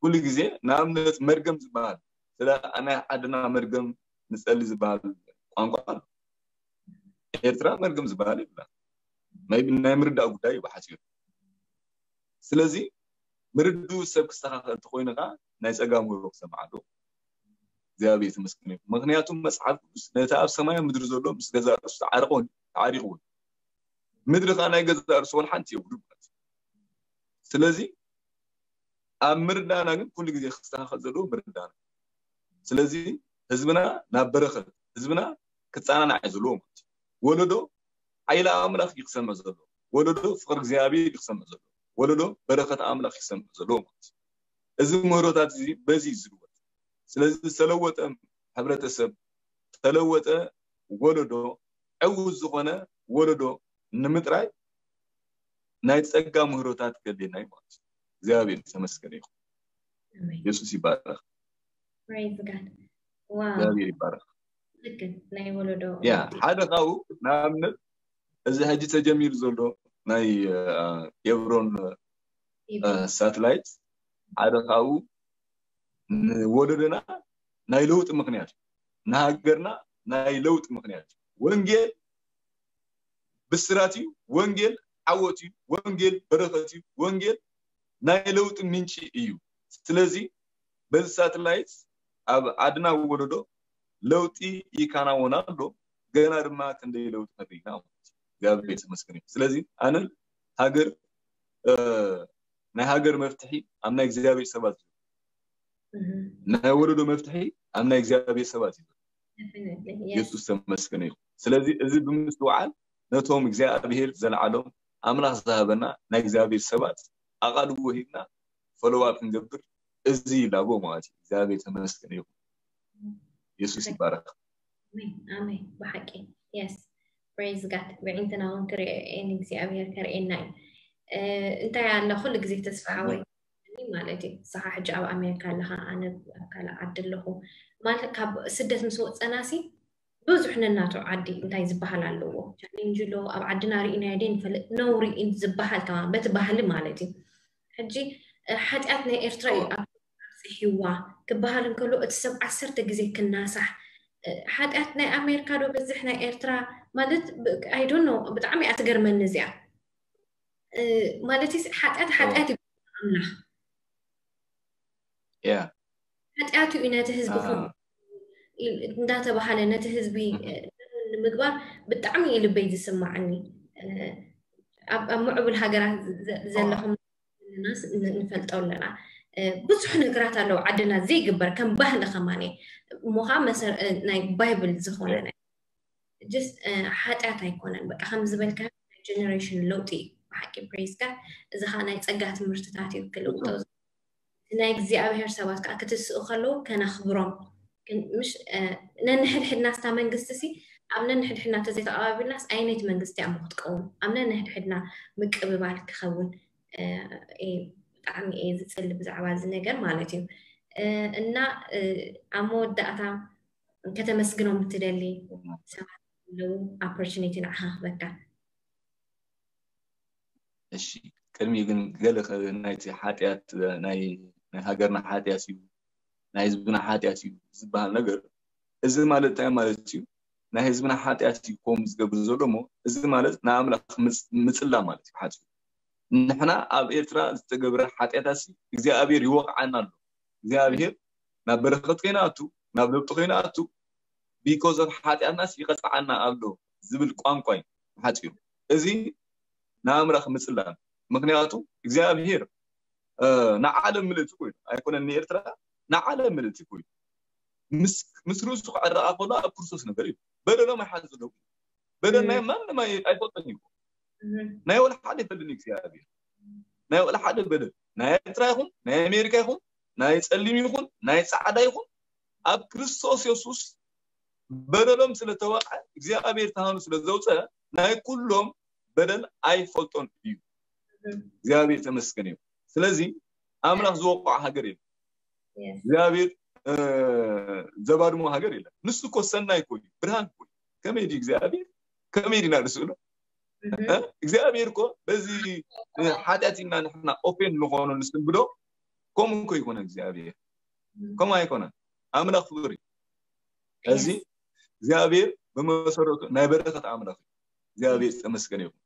ኩሉ ግዜ ንኣብነት መርገም ዝበሃል ስለ ናይ ዓድና መርገም ንጸሊ ዝበሃል ቋንቋ ኣሎ። ኤርትራ መርገም ዝበሃል የብላ። ናይ ምርዳእ ጉዳይ እዩ ብሓፂሩ። ስለዚ ምርድኡ ሰብ ክስተኻኸል እንተኮይኑ ከዓ ናይ ጸጋ ምህሮ ክሰምዓሉ እግዚኣብሔር ተመስገን እዩ። ምክንያቱ መጽሓፍ ቅዱስ ነቲ ኣብ ሰማይ ምድሪ ዘሎ ምስ ገዛ ርእሱ ተዓርቆ ተዓሪቅዎ እዩ። ምድሪ ከዓ ናይ ገዛ ርእሱ ወላ ሓንቲ የብሉ ማለት እዩ። ስለዚ ኣብ ምርዳእና ግን ኩሉ ግዜ ክስተኻኸል ዘለዎ ምርዳእና። ስለዚ ህዝብና ናብ በረኸት ህዝብና ክጸናናዕ እዩ ዘለዎ ማለት እዩ። ወለዶ ሓይሊ ኣምላኽ እዩ ክሰምዕ ዘለዎ። ወለዶ ፍቕሪ እግዚኣብሔር እዩ ክሰምዕ ዘለዎ። ወለዶ በረኸት ኣምላኽ እዩ ክሰምዕ ዘለዎ ማለት እዩ። እዚ ምህሮታት እዚ በዚ እዩ ዝልወጥ። ስለዚ ዝተለወጠ ሕብረተሰብ ዝተለወጠ ወለዶ ዕውት ዝኾነ ወለዶ ንምጥራይ ናይ ጸጋ ምህሮታት ከድልየና እዩ ማለት እዩ። እግዚኣብሔር ተመስገን ይኹን። ኣሜን። የሱስ ይባረክ። Praise God። ዋው እግዚኣብሔር ይባረክ። ልክን ናይ ወለዶ ያ ለውጢ። ሓደ ካብኡ ንኣብነት እዚ ሕጂ ተጀሚሩ ዘሎ ናይ ኬብሮን ይብል። ሳተላይት ሓደ ካብኡ ንወለዶና ናይ ለውጢ ምክንያት እዩ። ንሃገርና ናይ ለውጢ ምክንያት እዩ። ወንጌል ብስራት እዩ። ወንጌል ዓወት እዩ። ወንጌል በረኸት እዩ። ወንጌል ናይ ለውጢ ምንጪ እዩ። ስለዚ በዚ ሳተላይት ኣብ ዓድና ወለዶ ለውጢ ይከናወን ኣሎ። ገና ድማ ክንደይ ለውጢ ንርኢ ኢና ማለት እዩ። እግዚኣብሔር ይመስገን እዩ። ስለዚ ኣነ ሃገር ናይ ሃገር መፍትሒ ኣብ ናይ እግዚኣብሔር ሰባት እዩ። ናይ ወለዶ መፍትሒ ኣብ ናይ እግዚኣብሔር ሰባት እዩ። የሱስ ተመስገነ ይኹን። ስለዚ እዚ ብምስትውዓል ነቶም እግዚኣብሔር ዘለዓሎም ኣምላኽ ዝሃበና ናይ እግዚኣብሔር ሰባት ኣቓልቦ ሂብና ፈለዋል ክንገብር እዚ ይላቦ ማለት እዩ። እግዚኣብሔር ተመስገነ ይኹን። የሱስ ይባረክ። ኣሜን ኣሜን። ብሓቂ የስ ፕሬዝ ጋድ ብዒንትና እውን ክርእኤን እግዚኣብሔር ከርእየና እዩ። እንታይ ኣለ ኩሉ ግዜ ተስፋ ሓወይ ማለት እዩ። ንስኻ ሕጂ ኣብ ኣሜሪካ ኣለኻ፣ ኣነ ኣብ ካልእ ዓዲ ኣለኹ። ማለት ካብ ስደት ምስ ወፀናሲ ብዙሕ ነናቱ ዓዲ እንታይ ዝበሃል ኣለዎ፣ ቻሌንጅ ኣሎ። ኣብ ዓድና ርኢናዮ ደይ ንፈልጥ፣ ነውሪ እዩ ዝበሃል ተማ በቲ ባህሊ ማለት እዩ። ሕጂ ሓጢኣት ናይ ኤርትራ እዩ ኣብ ኣብፅሕዋ ክበሃል እንከሎ እቲ ሰብ ዓሰርተ ግዜ ክናሳሕ። ሓጢኣት ናይ ኣሜሪካ ዶ በዝሕ ናይ ኤርትራ ማለት I don't know። ብጣዕሚ እያ ትገርመኒ እዚኣ። ማለት ሓጢኣት ሓጢኣት እዩ ኣምላኽ ያ ሓጢኣቱ እዩ ነቲ ህዝቢ ከም እንዳተባሃለ ነቲ ህዝቢ ንምግባር ብጣዕሚ እዩ ልበይ ዝስማዓኒ። ኣብ ምዕቡል ሃገራት ዘለኹም ንፈልጦ ኣለና። ብዙሕ ነገራት ኣለዉ ዓድና ዘይግበር ከም ባህሊ ከማን እሞ ከዓ ናይ ባይብል ዝኾነ ሓጢኣት ኣይኮነን። በቃ ከም ዝበልካ ጀነሬሽን ለውጢ እዩ። ብሓቂ praise God። እዚ ከዓ ናይ ጸጋ ትምህርትታት እዩ ክልውጦ ናይ እግዚኣብሔር ሰባት ከዓ ክትስኡ ከለዉ ከነኽብሮም። ምሽ ነንሕድሕድና ስታ መንግስቲ ሲ ኣብ ነንሕድሕድና ተዘይተቐባቢልናስ ኣየነይቲ መንግስቲ እያ ክትቀውም? ኣብ ነንሕድሕድና ምቅብባል ክኸውን ብጣዕሚ እየ ዝፅሊ ብዛዕባ እዚ ነገር ማለት እዩ። እና ኣብ መወዳእታ ከተመስግኖም እትደሊ ሰባት ኣለዉ opportunity ንዓኻ ክበካ። እሺ ቅድሚ ግን ገለ ናይቲ ሓጢኣት ናይ ናይ ሃገርና ሓጢኣት እዩ ናይ ህዝብና ሓጢኣት እዩ ዝበሃል ነገር እዚ ማለት እንታይ ማለት እዩ? ናይ ህዝብና ሓጢኣት እዩ ከምኡ ዝገብር ዘሎ እሞ እዚ ማለት ንኣምላኽ ምፅላ ማለት እዩ ሓፂኡ። ንሕና ኣብ ኤርትራ ዝተገብረ ሓጢኣታት እግዚኣብሔር ይወቕዓና ኣሎ። እግዚኣብሔር ናብ በረኸት ከይንኣቱ ናብ ለውጢ ከይንኣቱ because of ሓጢኣትናስ ይቐፅዓና ኣሎ ዝብል ቋንቋ እዩ ሓፂሩ። እዚ ንኣምላኽ ምፅላል ምክንያቱ እግዚኣብሔር ንዓለም ምልእቲ ኮይኑ ኣይኮነን ንኤርትራ ንዓለም ምልእቲ ኮይኑ ምስ ርእሱ ክዕረቓ ከሎ ኣብ ክርስቶስ ነበር እዩ። በደሎም ኣይሓዘሎም። በደል ናይ ማንም ኣይፈልጦን እዩ። ናይ ወላ ሓደ ይፈልጥን እዩ እግዚኣብሔር። ናይ ወላ ሓደ በደል ናይ ኤርትራ ይኹን ናይ ኣሜሪካ ይኹን ናይ ፀሊም ይኹን ናይ ፃዕዳ ይኹን ኣብ ክርስቶስ የሱስ በደሎም ስለተወቕዐ እግዚኣብሔር ተሃኑ ስለዘውፀ ናይ ኩሎም በደል ኣይፈልጦን እዩ። እግዚኣብሔር ተመስገን እዩ። ስለዚ ኣምላኽ ዝወቕዖ ሃገር የለን። እግዚኣብሔር ዘባድሞ ሃገር የለን። ንሱ እኮ ሰናይ እኮ እዩ፣ ብርሃን እኮ እዩ። ከመይ ድዩ እግዚኣብሔር? ከመይ ዲና ንስእሎ? እግዚኣብሔር እኮ በዚ ሓጢኣት ኢና ንሕና ኦፌን ንኾኖ ንስንብዶ ከምኡ እኮ ይኮነ እግዚኣብሔር ከምኡ ኣይኮነን። ኣምላኽ ፍቅሪ እዚ እግዚኣብሔር ብመሰረቱ ናይ በረከት ኣምላኽ እዩ። እግዚኣብሔር ዝተመስገነ ይኹን።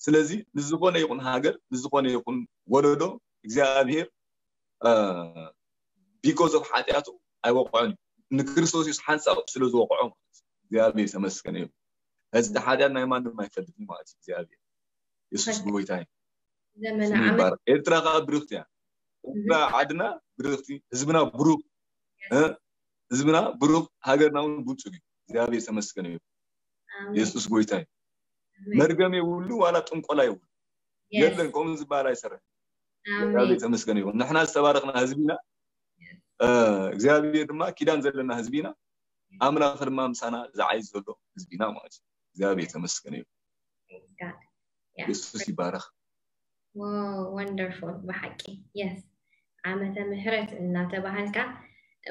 ስለዚ ንዝኾነ ይኹን ሃገር ንዝኾነ ይኹን ወለዶ እግዚኣብሔር because of ሓጢኣቱ ኣይወቕዖን እዩ። ንክርስቶስ የሱስ ሓንሳብ ስለ ዝወቕዖ ማለት እዩ። እግዚኣብሔር ዝተመስገነ ይኹን። እዚ ሓጢኣት ናይ ማንም ኣይፈልጥን ማለት እዩ። እግዚኣብሔር የሱስ ጎይታ እዩ። ስሙ ይባረክ። ኤርትራ ከዓ ብርክቲ እያ። ኤርትራ ዓድና ብርክቲ፣ ህዝብና ብሩክ፣ ህዝብና ብሩክ፣ ሃገርና እውን ብልፅግ እዩ። እግዚኣብሔር ተመስገነ እዩ። የሱስ ጎይታ እዩ። መርገም የብሉ ዋላ ጥንቆላ የብሉ የለን። ከምኡ ዝበሃል ኣይሰርሕ። እግዚኣብሔር ተመስገነ ይኹን። ንሕና ዝተባረክና ህዝቢና፣ እግዚኣብሔር ድማ ኪዳን ዘለና ህዝቢና፣ ኣምላኽ ድማ ምሳና ዝዓይ ዘሎ ህዝቢና ማለት እዩ። እግዚኣብሔር ተመስገነ ይኹን። የሱስ ይባረክ። ወንደርፉል ብሓቂ የስ ዓመተ ምሕረት እናተባሃልካ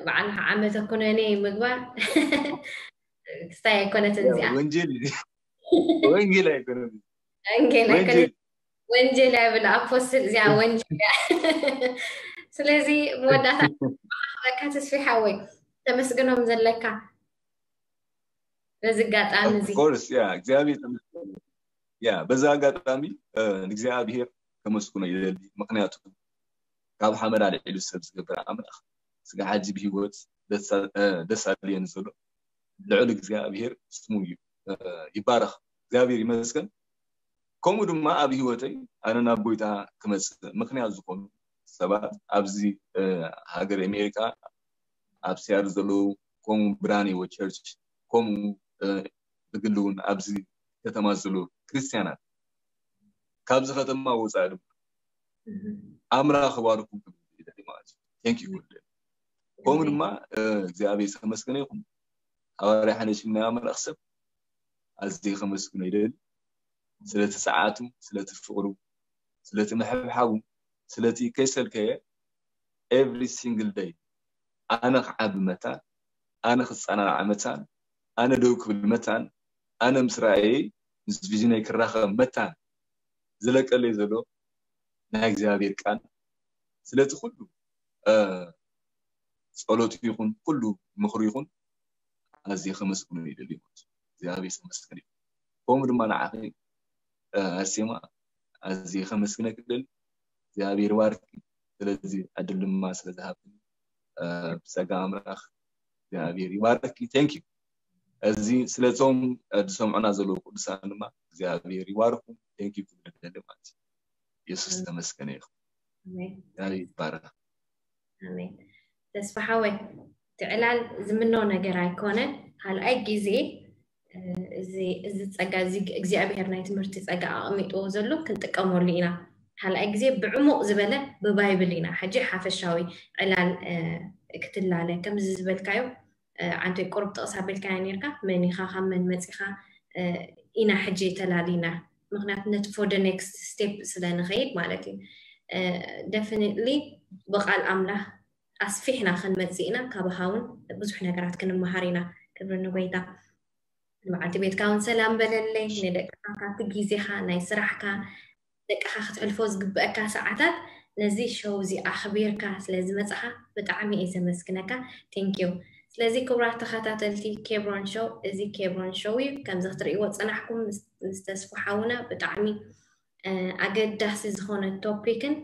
ባዕልካ ዓመተ ኩነኔ ምግባር ክስታይ ኣይኮነትን እዚኣ ወንጀል ወንጌል ኣይኮነን ወንጌል ኣይኮነት ወንጀል እያ ብል ኣፖስትል እዚኣ ወንጀል እያ። ስለዚ መወዳእታ በካ ተስፊ ሓወይ ተመስግኖም ዘለካ በዚ ኣጋጣሚ እዚ ኮርስ ያ እግዚኣብሔር ተመስገን። ያ በዛ ኣጋጣሚ ንእግዚኣብሔር ከመስግኖ ይደሊ። ምክንያቱ ካብ ሓመድ ኣልዒሉ ሰብ ዝገብር ኣምላኽ ስጋ ሕጂ ብህይወት ደስ ኣልየኒ ዘሎ ልዑል እግዚኣብሔር ስሙ ይባረኽ። እግዚኣብሔር ይመስገን። ከምኡ ድማ ኣብ ህይወተይ ኣነ ናብ ጎይታ ክመፅእ ምክንያት ዝኾኑ ሰባት ኣብዚ ሃገር ኣሜሪካ ኣብ ሲያትል ዘለዉ ከምኡ ብርሃን ህይወት ቸርች ከምኡ ብግሊ እውን ኣብዚ ከተማ ዘለዉ ክርስትያናት ካብዚ ከተማ ወፃኢ ድማ ኣምላኽ ባርኩም ክብል ይደሊ ማለት እዩ። Thank you ክብል ይደሊ። ከምኡ ድማ እግዚኣብሔር ዝተመስገነ ይኹን። ሃዋርያ ሓነሽም ናይ ኣምላኽ ሰብ ኣዝየ ከመስግኖ ይደሊ። ስለቲ ጸዓቱ፣ ስለቲ ፍቕሩ፣ ስለቲ ምሕብሓቡ፣ ስለቲ ከይሰልከየ every single day ኣነ ክዓቢ መታን፣ ኣነ ክጸናናዕ መታን፣ ኣነ ደው ክብል መታን፣ ኣነ ምስ ራእየይ ምስ ቪዥነይ ክራኸብ መታን ዝለቀለይ ዘሎ ናይ እግዚኣብሔር ቃል ስለቲ ኩሉ ጸሎት ይኹን ኩሉ ምኽሩ ይኹን ኣዝየ ከመስግኖ ይደሊ ማለት እዩ። እግዚኣብሔር ይመስገን እዩ። ከምኡ ድማ ንዓኺ ኣርሴማ ኣዝየ ከመስግነኪ ይደሊ። እግዚኣብሔር ይባርኪ። ስለዚ ዕድል ድማ ስለ ዝሃብክኒ ብጸጋ ኣምላኽ እግዚኣብሔር ይባርኪ። Thank you። እዚ ስለቶም ዝሰምዑና ዘለዉ ቅዱሳን ድማ እግዚኣብሔር ይባርኩም። Thank you ክብል ይደሊ ማለት እዩ። የሱስ ተመስገነ ይኹን። እግዚኣብሔር ይባረክ። ኣሜን። ተስፋ ሓወይ እቲ ዕላል ዝምኖ ነገር ኣይኮነን። ካልኣይ ግዜ እዚ ጸጋ እዚ እግዚኣብሔር ናይ ትምህርቲ ጸጋ ኣቐሚጥዎ ዘሎ ክንጥቀመሉ ኢና። ካልኣይ ግዜ ብዕሙቕ ዝበለ ብባይብል ኢና ሕጂ ሓፈሻዊ ዕላል ክትላለ። ከምዚ ዝበልካዮ ዓንተይ ቁሩብ ጥቕስ ኣቢልካያ ነርካ፣ መን ኢኻ፣ ካብ መን መጺኻ ኢና ሕጂ ተላሊና። ምክንያቱ ነቲ for the next step ስለ ንኸይድ ማለት እዩ። Definitely ብቓል ኣምላኽ ኣስፊሕና ክንመጽእ ኢና። ካባኻ እውን ብዙሕ ነገራት ክንመሃር ኢና። ክብሪ ንጎይታ። ንበዓልቲ ቤትካ እውን ሰላም በለለይ። ንደቅኻ ካብቲ ግዜኻ ናይ ስራሕካ ደቅኻ ክትሕልፎ ዝግበአካ ሰዓታት ነዚ ሾው እዚ ኣኽቢርካ ስለ ዝመጻኻ ብጣዕሚ እየ ዘመስግነካ። Thank you። ስለዚ ክቡራት ተኸታተልቲ ኬብሮን ሾው፣ እዚ ኬብሮን ሾው እዩ። ከምዚ ክትርእይዎ ዝጸናሕኩም ምስ ተስፉ ሓውና ብጣዕሚ ኣገዳሲ ዝኾነ ቶፒክን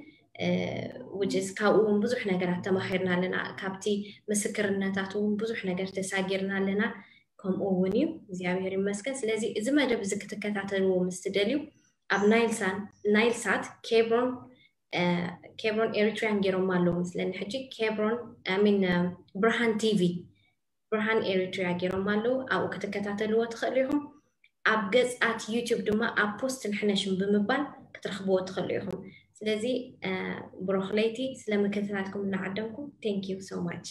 which is ካብኡ እውን ብዙሕ ነገራት ተማሂርና ኣለና። ካብቲ ምስክርነታት እውን ብዙሕ ነገር ተሳጊርና ኣለና። ከምኡ እውን እዩ። እግዚኣብሔር ይመስገን። ስለዚ እዚ መደብ እዚ ክትከታተልዎ ምስ ትደልዩ ኣብ ናይልሳን ናይልሳት ኬብሮን ኬብሮን ኤሪትሪያን ገይሮም ኣለዉ ምስለኒ ሕጂ ኬብሮን ሚን ብርሃን ቲቪ ብርሃን ኤሪትሪያ ገይሮም ኣለዉ። ኣብኡ ክትከታተልዎ ትኽእሉ ኢኹም። ኣብ ገጻት ዩቲዩብ ድማ ኣብ ፖስት ንሕነሽም ብምባል ክትረኽብዎ ትኽእሉ ኢኹም። ስለዚ ብሩኽ ለይቲ። ስለ ምክትታልኩም እናዓደምኩም thank you so much።